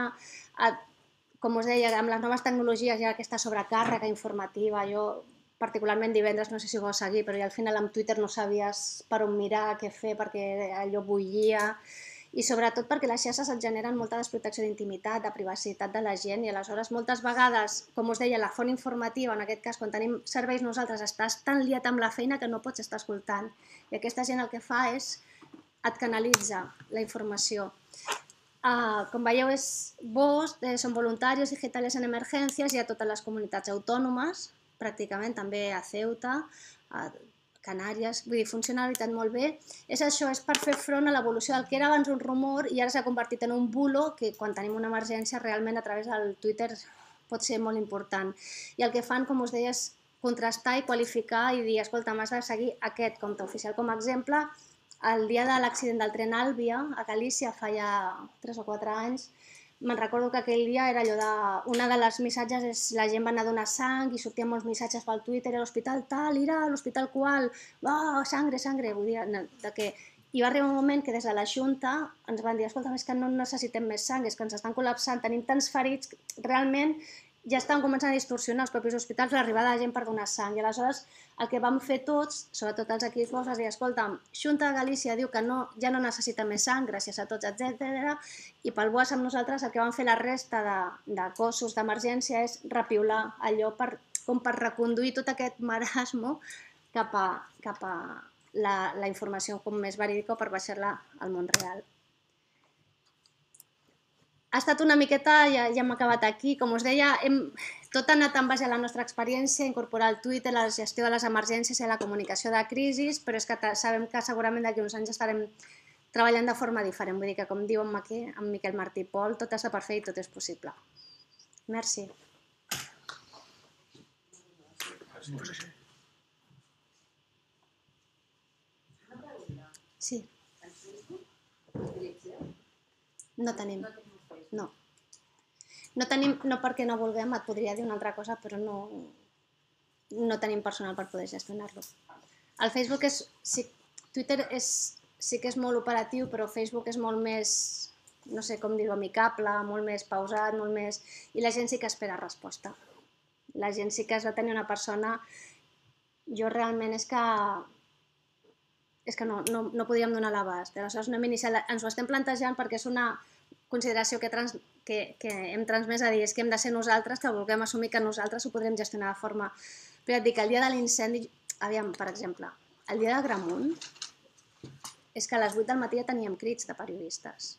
com us deia, amb les noves tecnologies hi ha aquesta sobrecàrrega informativa. Jo, particularment divendres, no sé si ho vau seguir, però al final amb Twitter no sabies per on mirar, què fer, perquè allò bullia, i sobretot perquè les xarxes et generen molta desprotecció d'intimitat, de privacitat de la gent, i aleshores moltes vegades, com us deia, la font informativa, en aquest cas, quan tenim serveis nosaltres, estàs tan liat amb la feina que no pots estar escoltant. I aquesta gent el que fa és et canalitza la informació. Uh, com veieu, és V O S, eh, són voluntaris digitals en emergències, hi ha totes les comunitats autònomes, pràcticament, també a Ceuta, a Canàries, vull dir, funciona la veritat molt bé. És això, és per fer front a l'evolució del que era abans un rumor i ara s'ha convertit en un bulo que quan tenim una emergència realment a través del Twitter pot ser molt important. I el que fan, com us deia, és contrastar i qualificar i dir, escolta, m'has de seguir aquest compte oficial. Com a exemple, el dia de l'accident del tren Àlvia, a Galícia, fa ja tres o quatre anys, me'n recordo que aquell dia era allò de... Una de les missatges és la gent va anar a donar sang i sortien molts missatges pel Twitter, a l'hospital tal, irà, a l'hospital qual, oh, sangre, sangre, vull dir, de que... I va arribar un moment que des de la Junta ens van dir, escolta, és que no necessitem més sang, és que ens estan col·lapsant, tenim tants ferits, realment ja estan començant a distorsionar els propis hospitals l'arribada de gent per donar sang. I aleshores el que vam fer tots, sobretot els equips bons, és dir, escolta, Junta de Galícia diu que no, ja no necessita més sang, gràcies a tots, etcètera. I pel B O A S amb nosaltres el que vam fer la resta de, de cossos d'emergència és repiular allò per, com per reconduir tot aquest marasmo cap a, cap a la, la informació com més verídica o per baixar-la al món real. Ha estat una miqueta, ja, ja hem acabat aquí, com us deia, hem, tot ha anat en base a la nostra experiència, incorporar el Twitter, la gestió de les emergències i la comunicació de crisis, però és que sabem que segurament d'aquí uns anys estarem treballant de forma diferent, vull dir que com diu en Maquí, en Miquel Martí i Pol, tot està per fer i tot és possible. Merci. Sí. No tenim. No. No tenim, no perquè no vulguem, et podria dir una altra cosa, però no, no tenim personal per poder gestionar-lo. El Facebook és, sí, Twitter és, sí que és molt operatiu, però Facebook és molt més, no sé com dir-ho, amicable, molt més pausat, molt més... I la gent sí que espera resposta. La gent sí que has de tenir una persona... Jo realment és que... És que no, no, no podríem donar l'abast. Aleshores no hem iniciat, ens ho estem plantejant perquè és una consideració que, trans, que, que hem transmès a dir, és que hem de ser nosaltres, que vulguem assumir que nosaltres ho podrem gestionar de forma... Però et dic que el dia de l'incendi, aviam, per exemple, el dia de Gramunt, és que a les vuit del matí ja teníem crits de periodistes.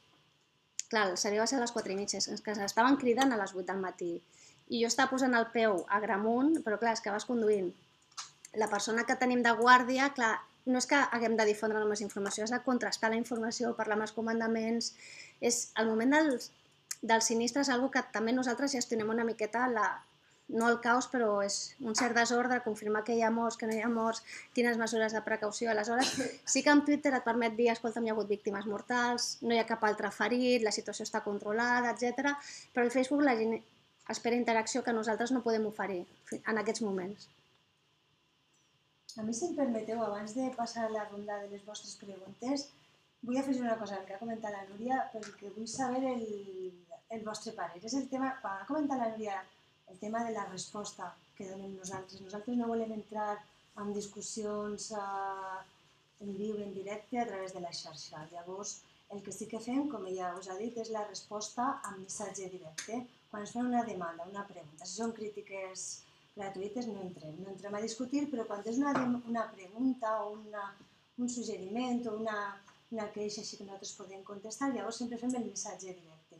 Clar, el servei va ser a les quatre i mitja, és que s'estaven cridant a les vuit del matí. I jo estava posant el peu a Gramunt, però clar, és que vas conduint. La persona que tenim de guàrdia, clar, no és que haguem de difondre només informació, és de contrastar la informació, parlar amb els comandaments. És el moment dels, dels sinistres, algo que també nosaltres gestionem una miqueta, la, no el caos, però és un cert desordre, confirmar que hi ha morts, que no hi ha morts, quines mesures de precaució. Aleshores, sí que en Twitter et permet dir, escolta, hi ha hagut víctimes mortals, no hi ha cap altre ferit, la situació està controlada, etcètera. Però al Facebook la gent espera interacció que nosaltres no podem oferir en aquests moments. A mi, si em permeteu, abans de passar a la ronda de les vostres preguntes, vull afegir una cosa que ha comentat la Núria, perquè vull saber el, el vostre parer. És el tema, quan ha comentat la Núria, el tema de la resposta que donem nosaltres. Nosaltres no volem entrar en discussions eh, en viu, en directe, a través de la xarxa. Llavors, el que sí que fem, com ella us ha dit, és la resposta amb missatge directe. Quan ens fan una demanda, una pregunta, si són crítiques gratuïtes no entrem, no entrem a discutir, però quan és una, una pregunta o una, un suggeriment o una, una queixa així que nosaltres podem contestar, llavors sempre fem el missatge directe.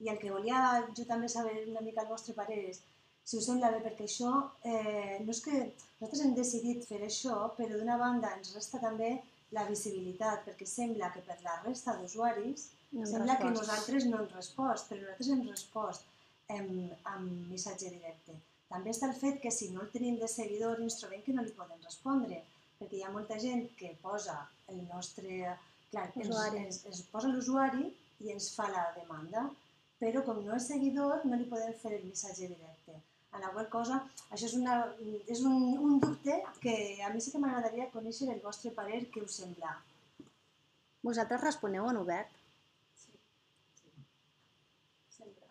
I el que volia jo també saber una mica el vostre parer és, si us sembla bé, perquè això, eh, no és que nosaltres hem decidit fer això, però d'una banda ens resta també la visibilitat, perquè sembla que per la resta d'usuaris no sembla que nosaltres no hem respost, però nosaltres hem respost amb, amb missatge directe. També està el fet que si no el tenim de seguidor ens trobem que no li podem respondre, perquè hi ha molta gent que posa el nostre... Clar, ens, ens, ens posa l'usuari i ens fa la demanda. però com no és seguidor no li podem fer el missatge directe. En la qual cosa, això és, una, és un, un dubte que a mi sí que m'agradaria conèixer el vostre parer, què us sembla. Vosaltres responeu en obert? Sí, sí. Sempre.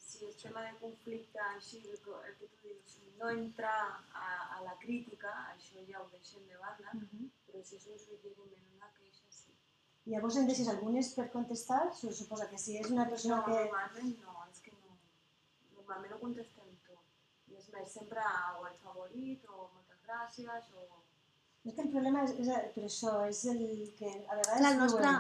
Si el tema de conflicte, així, el que, el que tu dius, no entrar a, a la crítica, això ja ho deixem de banda, uh-huh. Però si és un suggeriment, una queixa, sí. Llavors en deixes algunes per contestar? Se suposa que si és una persona no, que... No, normalment no, és que no. Normalment ho contestem tot. I és més, sempre o el favorit, o moltes gràcies, o... És que el problema és, és per això, és el que a vegades Clar, el nostre...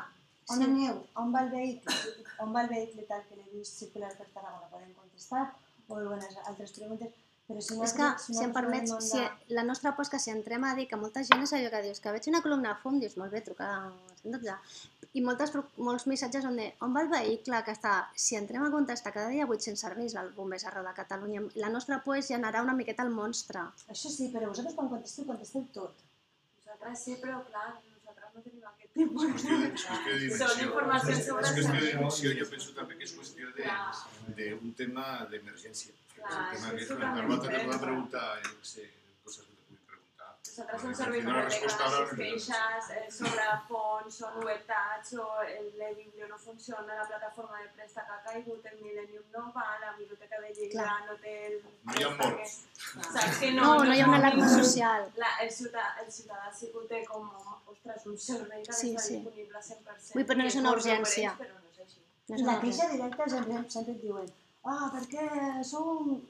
on sí. Aneu, on va el vehicle, on va el vehicle tal que l'he vist circular per Tarragona, podem contestar, o algunes altres preguntes, però si no... És que, si, si em permets, onda... si la nostra por és que si entrem a dir que molta gent és allò que dius, que veig una columna de fum, dius, molt bé, trucada cent dotze, i moltes, molts missatges on de on va el vehicle, que està, si entrem a contestar cada dia vuit-cents serveis al bombers arreu de Catalunya, la nostra por és generar una miqueta el monstre. Això sí, però vosaltres quan contesteu, contesteu tot. Nosaltres sí, però clar, nosaltres no tenim aquest tipus de... Són informacions sobre... És qüestió de dimensió, jo penso també que és qüestió d'un tema d'emergència. És un tema que és una Carlota que pot preguntar, jo no sé, coses que te puguin preguntar. Nosaltres som serveis de reclamacions, queixes, sobre fons, o novetats, o el Biblio no funciona, la plataforma de préstec ha caigut, el Millennium no va, la biblioteca de Lleida no té el... No hi ha morts. Saps que no? No, no hi ha una alarma social. El ciutadà sí que ho té com, ostres, un servei que està disponible cent per cent. Vull, però no és una urgència. I la queixa directa sempre et diuen ah, perquè sou...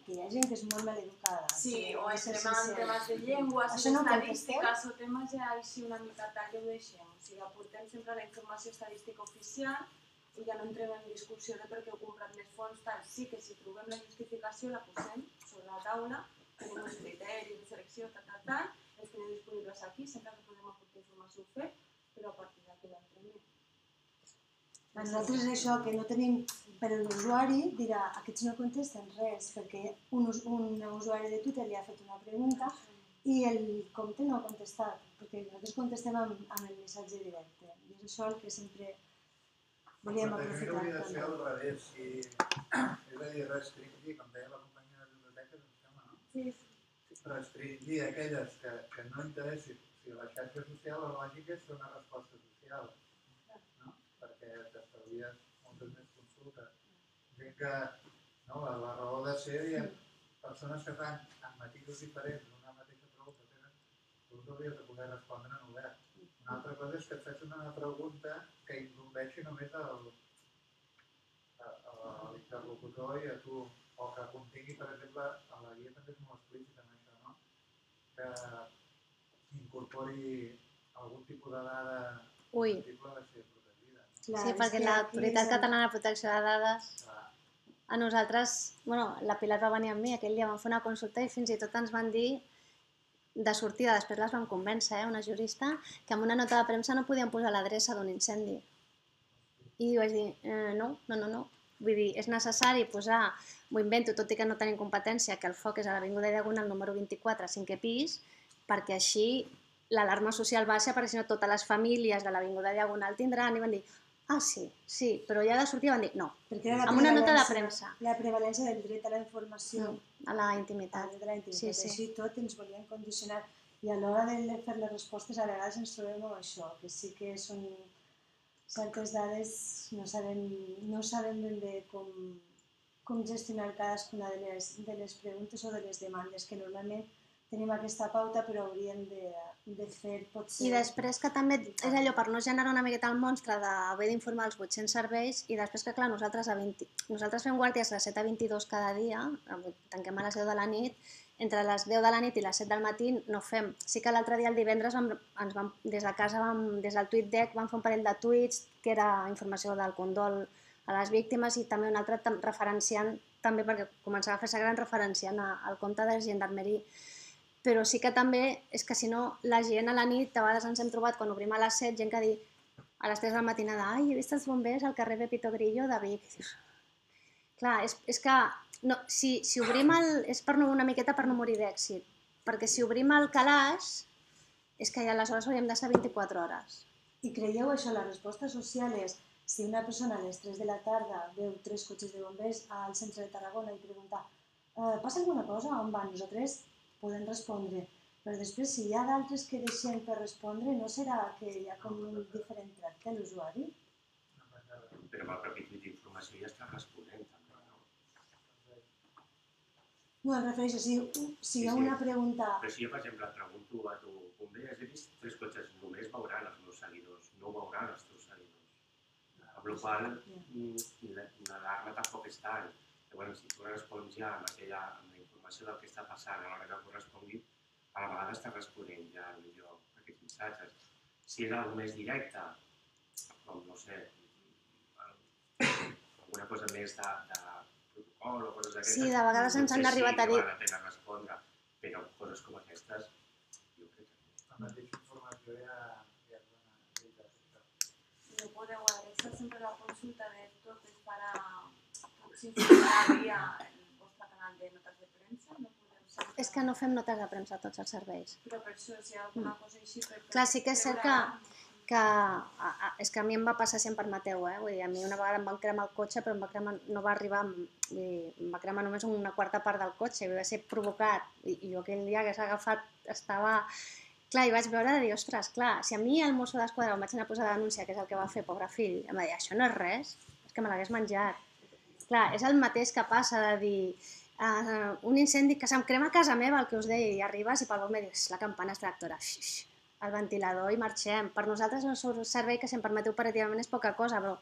que hi ha gent que és molt maleducada. Sí, o entrem en temes de llengües, estadístiques, o temes ja així una mica tal que ho deixem. O sigui, aportem sempre la informació estadística oficial i ja no entrem en discussió de per què heu comprat més fons, tal. Sí que si trobem la justificació la posem sobre la taula, tenim uns criteris de selecció, tal, tal, tal, els tenim disponibles aquí, sempre que podem aportar informació fet, però a partir d'aquí l'entrem. A nosaltres és això, que no tenim... Però l'usuari dirà, aquests no contesten res, perquè un, un usuari de Twitter li ha fet una pregunta i el compte no ha contestat, perquè nosaltres contestem amb, amb el missatge directe. I és això el que sempre volíem aprofitar. També hauria de ser al revés, si és a dir, restringir, com deia la companyia de biblioteques, em sembla, no? Sí. Restringir aquelles que, que no interessin. Si la xarxa social, la lògica és fer una resposta social, no? Perquè t'estalvies moltes més consultes. Gent que, no, la, la raó de ser, hi ha persones que fan amb matisos diferents una mateixa pregunta, tenen, tu hauries de poder respondre en obert. Una altra cosa és que et fes una pregunta que incumbeixi només el, l'interlocutor i a tu, o que contingui, per exemple, a la guia també és molt explícit en això, no? Que incorpori algun tipus de dada sensible a ser protegida. Clar, sí, perquè l'Autoritat Catalana de Protecció de Dades, clar. A nosaltres, bueno, la Pilar va venir amb mi, aquell dia vam fer una consulta i fins i tot ens van dir, de sortida, després les vam convèncer, eh, una jurista, que amb una nota de premsa no podien posar l'adreça d'un incendi. I vaig dir, eh, no, no, no, no. Vull dir, és necessari posar, m'ho invento, tot i que no tenim competència, que el foc és a l'Avinguda Diagonal número vint-i-quatre, cinquè pis, perquè així l'alarma social baixa, perquè si no totes les famílies de l'Avinguda Diagonal tindran, i van dir, ah, sí, sí, però ja de sortida van dir, no, amb una nota de premsa. La prevalència del dret a la informació. A la intimitat. A la intimitat, així tot ens volien condicionar. I a l'hora de fer les respostes a vegades ens trobem amb això, que sí que són certes dades, no sabem, no sabem ben bé com, com gestionar cadascuna de les, de les preguntes o de les demandes, que normalment tenim aquesta pauta però hauríem de, de fer potser... I després que també és allò per no generar una miqueta el monstre d'haver d'informar els vuit-cents serveis i després que clar, nosaltres, a vint... nosaltres fem guàrdies de set a vint-i-dos cada dia, tanquem a les deu de la nit, entre les deu de la nit i les set del matí no fem. Sí que l'altre dia, el divendres, vam, ens vam, des de casa, vam, des del TweetDeck, vam fer un parell de tuits que era informació del condol a les víctimes i també un altre referenciant, també perquè començava a fer-se gran referenciant al compte de Gendarmerie. Però sí que també és que si no la gent a la nit, a vegades ens hem trobat quan obrim a les set, gent que diu a les tres de la matinada, ai, he vist els bombers al carrer Pepito Grillo de Vic. Clar, és, és que no, si, si obrim el... és per no, una miqueta per no morir d'èxit, perquè si obrim el calaix és que ja aleshores hauríem d'estar vint-i-quatre hores. I creieu això, la resposta social és si una persona a les tres de la tarda veu tres cotxes de bombers al centre de Tarragona i pregunta eh, passa alguna cosa, on van? Nosaltres podem respondre, però després si hi ha d'altres que deixem per respondre, no serà que hi ha com un diferent tracte a l'usuari? Però amb el propi tuit d'informació ja està responent també, no? No, em refereixo, si, si hi ha una pregunta... Però si jo, per exemple, et pregunto a tu, bomber, has vist tres cotxes, només veuran els meus seguidors, no veuran els teus seguidors. Amb la qual l'alarma tampoc és tant. Llavors, si tu respons ja amb, aquella, amb la informació del que està passant a l'hora que correspongui, a la vegada està responent ja millor aquests missatges. Si és alguna més directe, com, no sé, alguna cosa més de, de protocol o coses d'aquestes... Sí, de vegades ens han arribat a dir... No sé si val la pena respondre, però coses com aquestes, jo crec que no. La mateixa informació ja... No podeu adreçar sempre la consulta de totes para s'informarà via el vostre canal de notes de premsa? No podeu sempre... És que no fem notes de premsa a tots els serveis. Però per això, si hi ha alguna cosa així... Per Clar, sí que és cert que, que a, a, és que a mi em va passar sempre el Mateu, eh? Vull dir, a mi una vegada em van cremar el cotxe, però em va cremar, no va arribar, vull dir, em va cremar només una quarta part del cotxe, i va ser provocat, i, i jo aquell dia que s'ha agafat estava... Clar, i vaig veure de dir, ostres, clar, si a mi el mosso d'esquadra em vaig anar a posar la denúncia, que és el que va fer, pobre fill, em va dir, això no és res, és que me l'hagués menjat. Clar, és el mateix que passa de dir, uh, un incendi que se'm crema a casa meva, el que us deia, i arribes i pel bomber dius, la campana extractora, xix, el ventilador i marxem. Per nosaltres un servei que, si em permeteu operativament, és poca cosa, però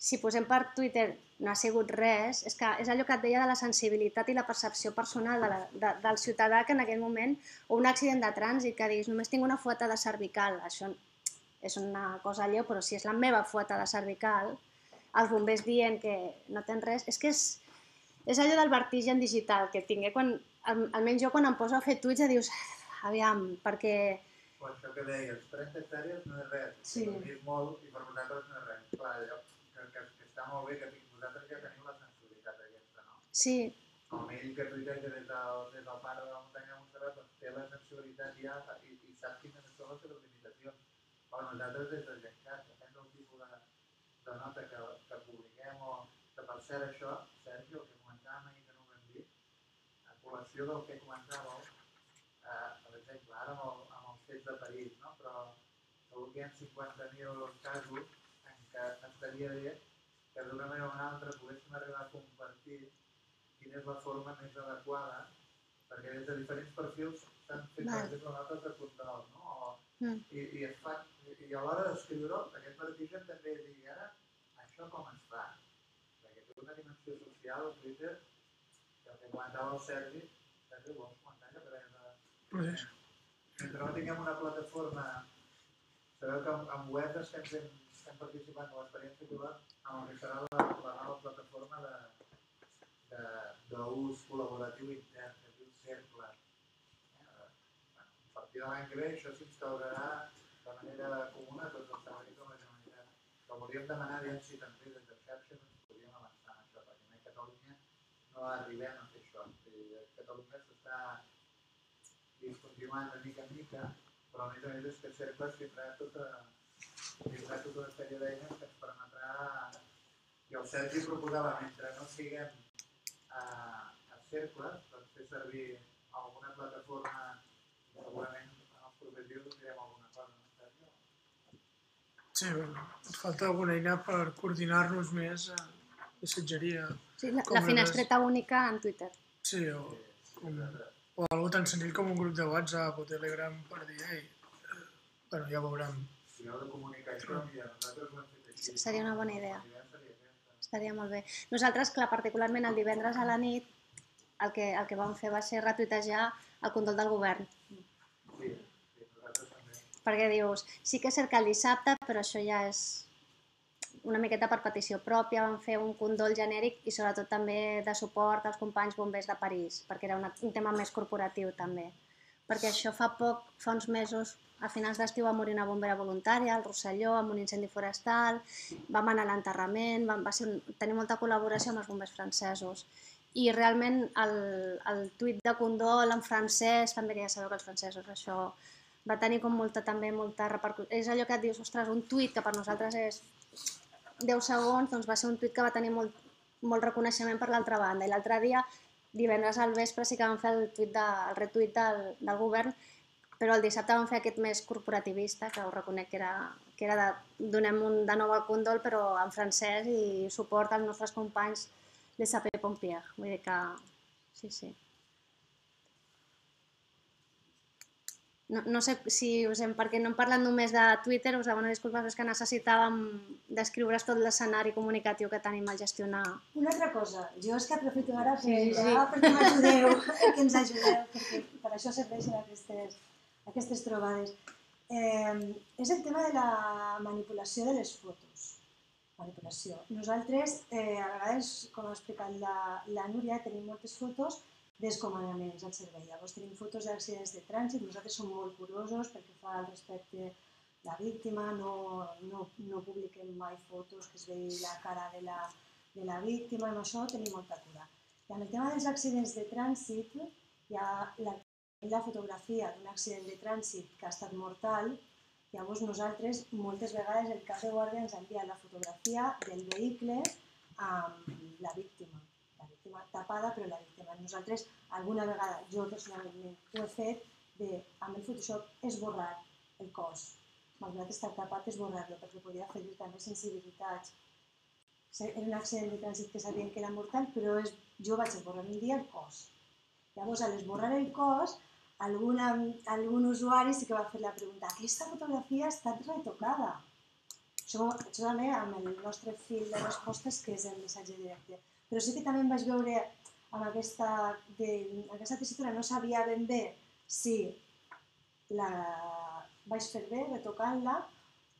si posem per Twitter no ha sigut res, és que és allò que et deia de la sensibilitat i la percepció personal de la, de, del ciutadà que en aquell moment, o un accident de trànsit, que diguis, només tinc una fueta de cervical, això és una cosa lleu, però si és la meva fueta de cervical, els bombers dient que no tens res, és que és, és allò del vertigen digital que tinc, eh? Quan, almenys jo quan em poso a fer tuits ja dius, aviam, perquè... O això que deies, trenta hectàrees no és res, sí. És molt i per vosaltres no és res. Clar, allò que, que, que està molt bé que vosaltres ja teniu la sensibilitat aquesta, no? Sí. Com ell que tuiteja des del, des del pare de la muntanya de Montserrat, doncs té la sensibilitat ja i, i sap quines són les seves limitacions. Però nosaltres des del Gencat, depèn del tipus de, de nota que, que publiquem o que per cert això, Sergi, el que comentàvem ahir que no ho hem dit, a col·lecció del que comentàveu, eh, per exemple, ara amb, el, amb els fets de París, no? Però segur que hi ha cinquanta mil casos en què estaria bé que d'una manera o una altra poguéssim arribar a compartir quina és la forma més adequada, perquè des de diferents perfils s'han fet, per exemple, notes de control, no? O, mm. i, i, es fa, i a l'hora d'escriure-ho, aquest vertigen també és dir, ara, això com es fa? Perquè té una dimensió social, el Twitter, que el que comentava el Sergi, Sergi, vols comentar allò que deia de... Pues... Mentre no tinguem una plataforma, sabeu que amb, amb webs estem, fent, estem participant de l'experiència pilot amb el que serà la, la nova plataforma de d'ús col·laboratiu intern, que es diu Cercle. Eh, a partir de l'any que ve això s'instaurarà de manera comuna a tots els serveis de la Generalitat. Però volíem demanar aviam si també des de xarxes ens podíem avançar en això, perquè a Catalunya no arribem a fer això. A Catalunya s'està discontinuant de mica en mica, però a més a més és que Cercle tindrà tota, tindrà tota una sèrie d'eines que ens permetrà... I el Sergi proposava, mentre no siguem a, a cercles, doncs fer servir alguna plataforma, segurament en els propers dies direm alguna cosa, no, Sergi? Sí, bueno, falta alguna eina per coordinar-nos més a missatgeria. Sí, la, la finestreta les... única en Twitter. Sí, o, un, o algo tan senzill com un grup de WhatsApp o Telegram per dir, ei, eh, bueno, ja veurem. Si heu de comunicar això, mira, nosaltres ho hem fet així. Seria una bona idea. Estaria molt bé. Nosaltres, clar, particularment el divendres a la nit, el que, el que vam fer va ser retuitejar el condol del govern. Sí, sí, nosaltres també. Perquè dius, sí que és cert que el dissabte, però això ja és una miqueta per petició pròpia, vam fer un condol genèric i sobretot també de suport als companys bombers de París, perquè era una, un tema més corporatiu també. Perquè això fa poc, fa uns mesos, a finals d'estiu va morir una bombera voluntària al Rosselló amb un incendi forestal, vam anar a l'enterrament, va ser un, tenir molta col·laboració amb els bombers francesos. I realment el, el tuit de condol en francès, també que ja sabeu que els francesos això va tenir com molta, també molta repercussió. És allò que et dius, ostres, un tuit que per nosaltres és deu segons, doncs va ser un tuit que va tenir molt, molt reconeixement per l'altra banda. I l'altre dia, divendres al vespre, sí que vam fer el, tuit de, el retuit del, del govern, però el dissabte vam fer aquest més corporativista, que us reconec que era, que era de donem un, de nou el condol, però en francès i suport als nostres companys de Sapeurs-Pompiers. Vull dir que sí, sí. No, no sé si us hem, perquè no hem parlat només de Twitter, us demano disculpes, és que necessitàvem descriure's tot l'escenari comunicatiu que tenim al gestionar. Una altra cosa, jo és que aprofito ara per, Sí, sí. perquè m'ajudeu, que ens ajudeu, perquè per això serveixen aquestes, aquestes trobades. Eh, és el tema de la manipulació de les fotos. Manipulació. Nosaltres, eh, a vegades, com ha explicat la, la Núria, tenim moltes fotos d'escomandaments al servei. Llavors tenim fotos d'accidents de trànsit, nosaltres som molt curosos perquè fa al respecte la víctima, no, no, no publiquem mai fotos que es vegi la cara de la, de la víctima, amb això tenim molta cura. I amb el tema dels accidents de trànsit, hi ha la, la fotografia d'un accident de trànsit que ha estat mortal, llavors nosaltres moltes vegades el cap de guàrdia ens envia la fotografia del vehicle amb la víctima. La víctima tapada, però la víctima. Nosaltres, alguna vegada, jo personalment ho he fet, de, amb el Photoshop esborrar el cos. Malgrat estar tapat, esborrar-lo, perquè podia fer-hi també sensibilitats. Era un accident de trànsit que sabien que era mortal, però és, jo vaig esborrar un dia el cos. Llavors, a l'esborrar el cos, alguna, algun usuari sí que va fer la pregunta: aquesta fotografia ha estat retocada? Això, això també amb el nostre fil de respostes, que és el missatge directe. Però sí que també em vaig veure amb aquesta, de, aquesta tessitura, no sabia ben bé si la vaig fer bé retocant-la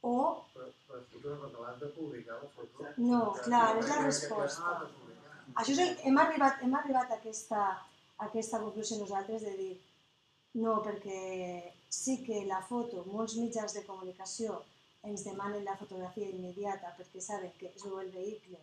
o... Però, però sí que quan l'has de publicar la foto... No, clar, és la resposta. Això és el, hem, arribat, hem arribat a aquesta, a aquesta conclusió nosaltres de dir no, perquè sí que la foto, molts mitjans de comunicació ens demanen la fotografia immediata perquè saben que es veu el vehicle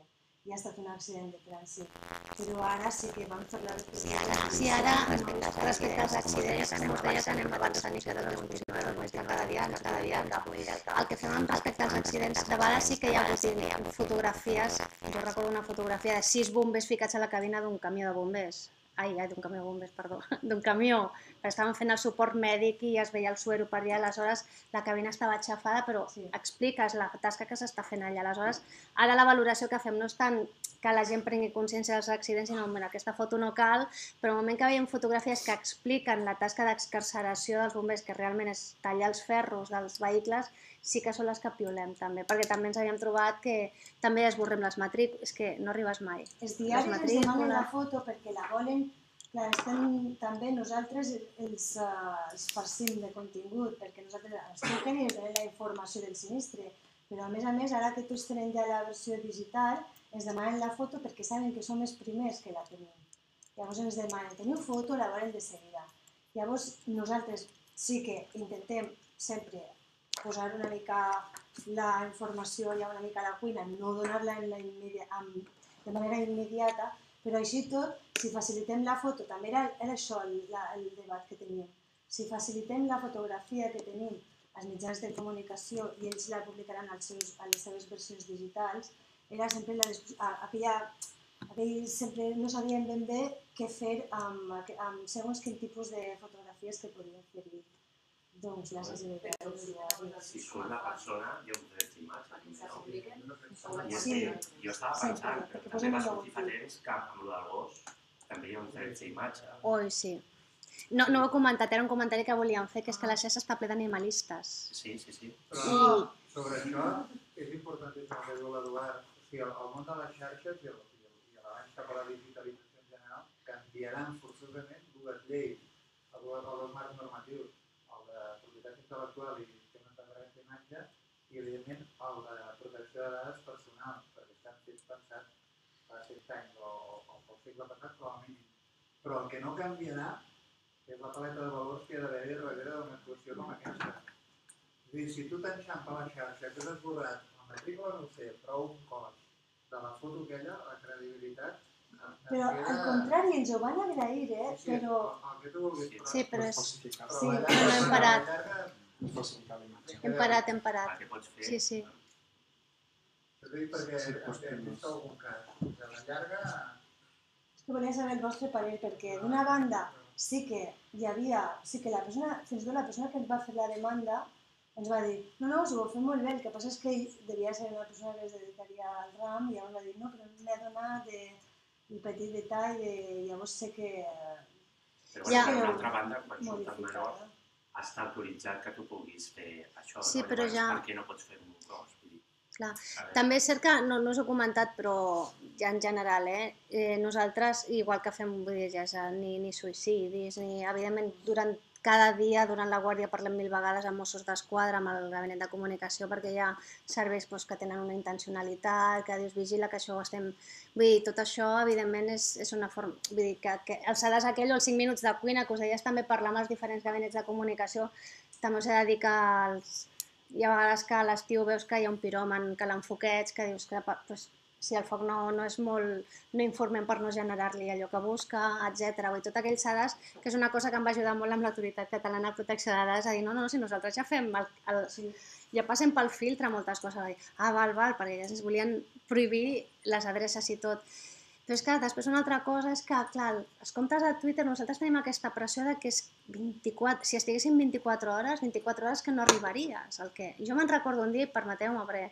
i ha estat un accident de trànsit. Però ara sí que vam fer la reflexió. Sí, ara, respecte als accidents, com us deia, que anem avançant i cada dos més cada dia, cada dia, el que fem respecte als accidents, de vegades sí que hi ha hagut fotografies, jo recordo una fotografia de sis bombers ficats a la cabina d'un camió de bombers. Ai, ai, d'un camió de bombers, perdó, d'un camió, perquè estaven fent el suport mèdic i es veia el suero per allà, aleshores la cabina estava aixafada, però sí, expliques la tasca que s'està fent allà. Aleshores, ara la valoració que fem no és tant que la gent prengui consciència dels accidents, sinó que aquesta foto no cal, però al moment que veiem fotografies que expliquen la tasca d'excarceració dels bombers, que realment és tallar els ferros dels vehicles, sí que són les que piolem també, perquè també ens havíem trobat que també esborrem les matrícules, és que no arribes mai. Els diaris ens demanen la foto perquè la volen, clar, estem, també nosaltres els, uh, els farcim de contingut, perquè nosaltres els truquen i ens donen la informació del sinistre, però a més a més, ara que tots tenen ja la versió digital, ens demanen la foto perquè saben que som els primers que la tenim. Llavors ens demanen, teniu foto, la volen de seguida. Llavors nosaltres sí que intentem sempre posar una mica la informació ja una mica a la cuina, no donar-la de manera immediata, però així tot, si facilitem la foto, també era, era això el, la, el debat que teníem, si facilitem la fotografia que tenim als mitjans de comunicació i ells la publicaran als seus, a les seves versions digitals, era sempre la, aquella, aquell, sempre no sabien ben bé què fer amb, amb segons quin tipus de fotografies que podien fer-hi. Doncs la sensibilitat. Si surt la persona, hi ha un dret d'imatge. Sí, jo estava pensant, però també va sortir fa temps que amb el del gos també hi ha un dret d'imatge. Oi, sí. No, no ho he comentat, era un comentari que volíem fer, que és que la xarxa està ple d'animalistes. Sí, sí, sí. Però sobre això és importantíssim el que diu l'Eduard. O sigui, el món de les xarxes i l'abans cap a la digitalització en general canviaran forçosament dues lleis, els dos marcs normatius, el de propietat intel·lectual i temes de dret d'imatge i, evidentment, el de protecció de dades personals, perquè estan fets pensats fa cent anys o, o pel segle passat, com a mínim. Però el que no canviarà és la paleta de valors que hi ha d'haver darrere d'una actuació com aquesta. És a dir, si tu t'enxampa la xarxa, que has esborrat la matrícula, no ho sé, però un cos de la foto aquella, la credibilitat... Però al contrari, ens ho van agrair, eh? Però... El que tu vulguis, però... Sí, però és... Sí, però no hem parat. Hem parat, hem parat. El que pots fer... Sí, sí. Ho dic perquè hem vist algun cas. De la llarga... És que volia saber el vostre parer, perquè d'una banda sí que hi havia, sí que la persona, fins i tot la persona que ens va fer la demanda ens va dir, no, no, si ho heu fet molt bé, el que passa és que ell devia ser una persona que es dedicaria al ram i llavors va dir, no, però m'he donat el petit detall de llavors sé que... Però bueno, per una altra banda, quan surt el menor, està autoritzat que tu puguis fer això, sí, no? Però llavors ja... per què no pots fer un cos? Clar. També és cert que, no, no us ho he comentat, però ja en general, eh? eh nosaltres, igual que fem, vull dir, ja, ni, ni suïcidis, ni, evidentment, durant cada dia, durant la guàrdia, parlem mil vegades amb Mossos d'Esquadra, amb el gabinet de comunicació, perquè hi ha serveis doncs, que tenen una intencionalitat, que dius, vigila que això ho estem... Vull dir, tot això, evidentment, és, és una forma... Vull dir, que, que el sedàs aquell o els cinc minuts de cuina, que us deies també parlar amb els diferents gabinets de comunicació, també us he de dir que els... Hi ha vegades que a l'estiu veus que hi ha un piròman, que l'enfoqueig, que dius que pues, si el foc no, no és molt... no informem per no generar-li allò que busca, etcètera. Vull dir, tot aquell sedàs, que és una cosa que em va ajudar molt amb l'Autoritat Catalana de Protecció de Dades, a dir, no, no, si nosaltres ja fem... El, el, sí, ja passem pel filtre moltes coses, a dir, ah, val, val, perquè ja ens volien prohibir les adreces i tot. Però és que després una altra cosa és que, clar, els comptes de Twitter, nosaltres tenim aquesta pressió de que és vint-i-quatre, si estiguessin vint-i-quatre hores, vint-i-quatre hores que no arribaries. El que... Jo me'n recordo un dia, i permeteu-me, perquè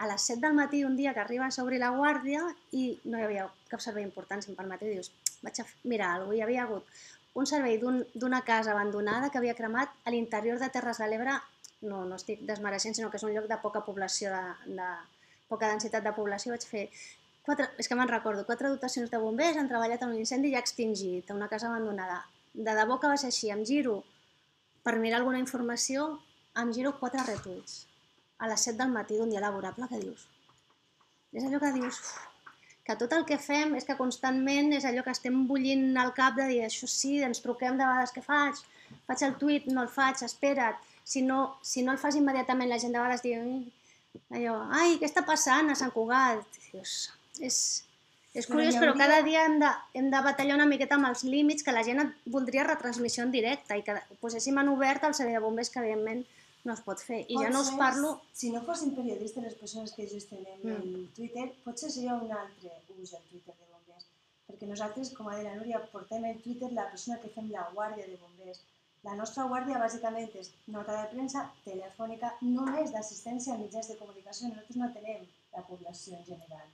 a les set del matí un dia que arribes a obrir la guàrdia i no hi havia cap servei important, si em permeteu, i dius, vaig a mirar alguna cosa, hi havia hagut un servei d'una casa abandonada que havia cremat a l'interior de Terres de l'Ebre, no, no estic desmereixent, sinó que és un lloc de poca població, de, de poca densitat de població, vaig fer... Quatre, és que me'n recordo, quatre dotacions de bombers han treballat en un incendi ja extingit, a una casa abandonada. De debò que va ser així, em giro per mirar alguna informació, em giro quatre retuits a les set del matí d'un dia laborable, que dius? És allò que dius, que tot el que fem és que constantment és allò que estem bullint al cap de dir, això sí, ens truquem de vegades, què faig? Faig el tuit, no el faig, espera't. Si no, si no el fas immediatament, la gent de vegades diu, allò, ai, què està passant a Sant Cugat? Dius, És, és curiós, però, hauria... però cada dia hem de, hem de batallar una miqueta amb els límits, que la gent voldria retransmissió en directe i que poséssim en obert el servei de bombers, que evidentment no es pot fer. I pot ja no us parlo... Si no fossin periodistes les persones que gestionem mm. el Twitter, potser seria un altre ús del Twitter de bombers. Perquè nosaltres, com ha dit la Núria, portem el Twitter la persona que fem la guàrdia de bombers. La nostra guàrdia bàsicament és nota de premsa telefònica, només d'assistència a mitjans de comunicació. Nosaltres no tenem la població en general.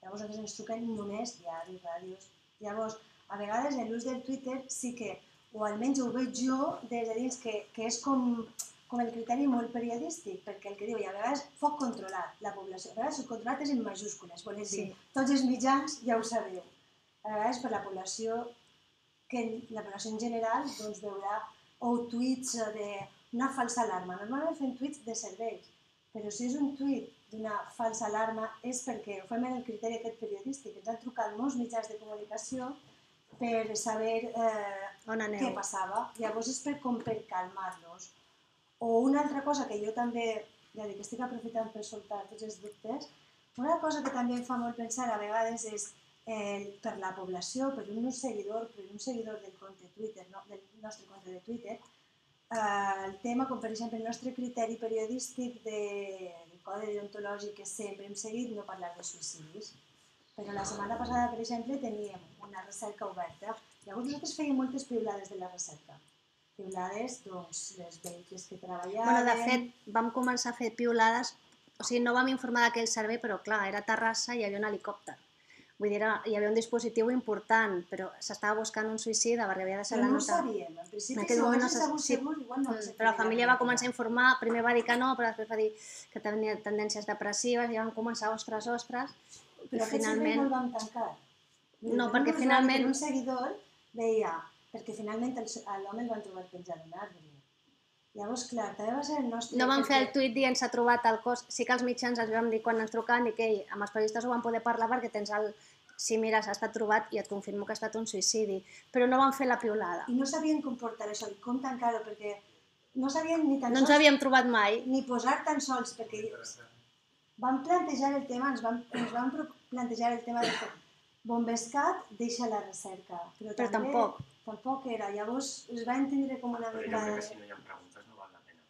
Llavors nosaltres ens truquen només diaris, ràdios. Llavors, a vegades l'ús del Twitter sí que, o almenys ho veig jo des de dins, que, que és com, com el criteri molt periodístic, perquè el que diu, i a vegades foc controlat, la població. A vegades el controlat és en majúscules, vol dir, sí. Tots els mitjans ja ho sabeu. A vegades per la població, que la població en general doncs, veurà o tuits d'una falsa alarma. Normalment fem tuits de serveis, però si és un tuit d'una falsa alarma és perquè ho fem en el criteri aquest periodístic. Ens han trucat molts mitjans de comunicació per saber eh, què passava. Llavors és per, com per calmar-los. O una altra cosa que jo també, ja dic, estic aprofitant per soltar tots els dubtes, una cosa que també em fa molt pensar a vegades és eh, per la població, per un seguidor, per un seguidor del compte Twitter, no, del nostre compte de Twitter, eh, el tema, com per exemple el nostre criteri periodístic de codi deontològic que sempre hem seguit, no parlar de suïcidis. Però la setmana passada, per exemple, teníem una recerca oberta. Llavors nosaltres fèiem moltes piulades de la recerca. Piulades, doncs, les vehicles que treballaven... Bueno, de fet, vam començar a fer piulades, o sigui, no vam informar d'aquell servei, però clar, era a Terrassa i hi havia un helicòpter. Vull dir, hi havia un dispositiu important, però s'estava buscant un suïcida perquè havia de ser la nota... Però no ho sabíem, en principi, si ho hagués sabut segur, igual no... Però la família va començar a informar, primer va dir que no, però després va dir que tenia tendències depressives, i van començar, ostres, ostres, però aquest servei no el vam tancar. No, perquè finalment... Un seguidor deia, perquè finalment l'home el van trobar penjat en arbre. Llavors, clar, també va ser el nostre... No vam fer el tuit dient s'ha trobat el cos, sí que els mitjans els vam dir quan ens trucaven, dic, ei, amb els periodistes ho vam poder parlar perquè tens el... Si mires, ha estat trobat i et confirmo que ha estat un suïcidi, però no vam fer la piulada. I no sabien com portar això, i com tancar-ho, perquè no sabien ni tan sols... No ens havíem trobat mai. Ni posar tan sols, perquè vam plantejar el tema, ens vam, ens vam plantejar el tema de Bombescat deixa la recerca, però, però també tampoc. tampoc era. Llavors es va entendre com una mica... Però jo crec que si no hi ha preguntes no val la pena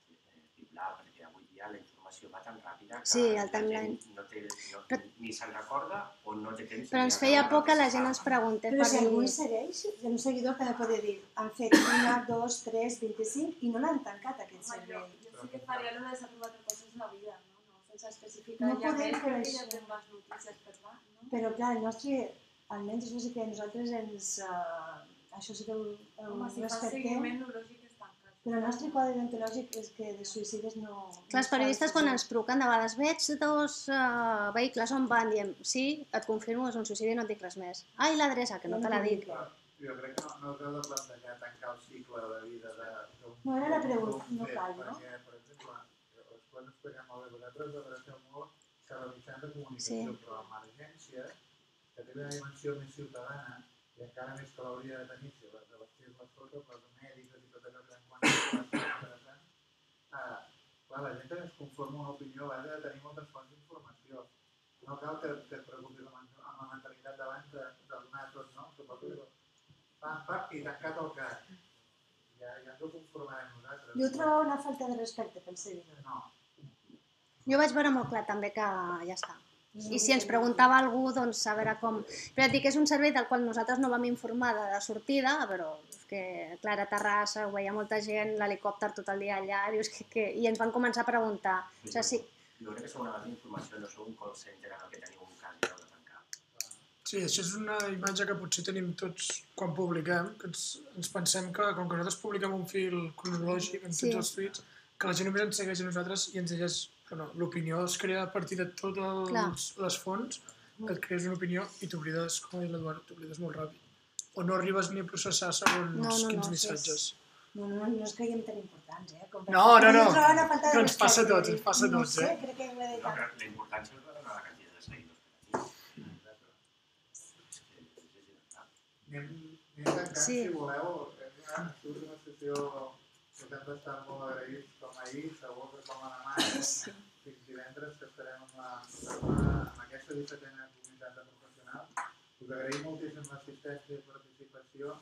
piular, perquè avui dia la informació informació va tan ràpida que Sí, el la timeline. gent no té, no, ni se'n recorda o no té temps. Però ens feia por que la gent ens preguntés Però per si algú dir... hi segueix, hi ha un seguidor que ha de poder dir han fet una, dos, tres, vint-i-cinc i no l'han tancat aquest Home, jo, servei. jo sí que faria el de s'ha trobat coses a la vida, no? No sense especificar No ja podem més, fer perquè això. ja tens les notícies per davant, no? Però clar, el nostre, almenys això sí que nosaltres ens... Uh, això sí que ho, ho Home, si fa respectem, seguiment, el lògic és tancat. però el nostre codi deontològic és que de suïcides no... Clar, els periodistes quan ens truquen de vegades veig dos uh, vehicles on van, diem sí, et confirmo, és un suïcidi i no et dic res més. Ai, l'adreça, que no te l'ha dit. Jo crec que no, no us heu de plantejar tancar el cicle de vida d'un... No, era la pregunta, no cal, no? Perquè, per exemple, us pot explicar molt bé, vosaltres adreceu molt cap a mitjans de comunicació, Sí. però l'emergència, que té una dimensió més ciutadana, i encara més que l'hauria de tenir, si les de vestir les fotos, les mèdiques i tot allò que en quant a interessant, eh, clar, la gent es conforma una opinió a base de tenir moltes fonts d'informació. No cal que, que et preocupis amb, amb la mentalitat d'abans de, de donar tot, no? Suposo que pam, pam, i tancat el cas. Ja, ja ens ho conformarem nosaltres. Jo ho trobo una falta de respecte pel seguidor. No. Jo vaig veure molt clar també que ja està. I si ens preguntava algú, doncs a veure com... Però et dic, és un servei del qual nosaltres no vam informar de, de sortida, però és que, clar, a Terrassa ho veia molta gent, l'helicòpter tot el dia allà, dius que, que... i ens van començar a preguntar. O sigui, sí. Jo crec que sou una base d'informació, no sou un call center en el que teniu un cas i heu de tancar. Sí, això és una imatge que potser tenim tots quan publiquem, que ens, ens pensem que, com que nosaltres publiquem un fil cronològic en tots Sí. els tuits, que la gent només ens segueix a nosaltres i ens llegeix. No, l'opinió es crea a partir de totes les fonts, que et crees una opinió i t'oblides, com ha dit l'Eduard, t'oblides molt ràpid. O no arribes ni a processar segons No, no, quins no, missatges. No, no, no ens creiem tan importants, eh? Com per- No, no, no. Jo trobo una falta de Però ens passa a respecte. tots, ens passa a No tots, sé, eh? crec que ho he dit. No, però la importància és la quantitat de seguidors que tenim. Anem, anem tancant, Sí. si voleu. Hem surt una sessió que hem d'estar molt agraïts com ahir, segur que com a demà, Sí. fins divendres, que estarem amb, la, amb, la, amb aquesta dissetena comunitat de professionals. Us agraïm moltíssim l'assistència i participació.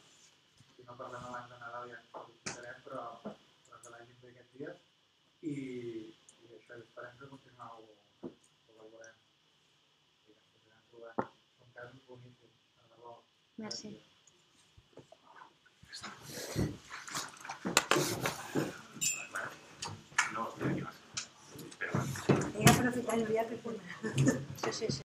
Si no parlem abans de Nadal ja ens felicitarem, però, però que l'hagin bé aquests dies. I, i això, esperem que continueu col·laborant i que ens anirem trobant. Són casos boníssims, de debò. Merci. No, espera que vas. Espera, vas. He aprofitat, Núria, per tornar. Sí, sí, sí.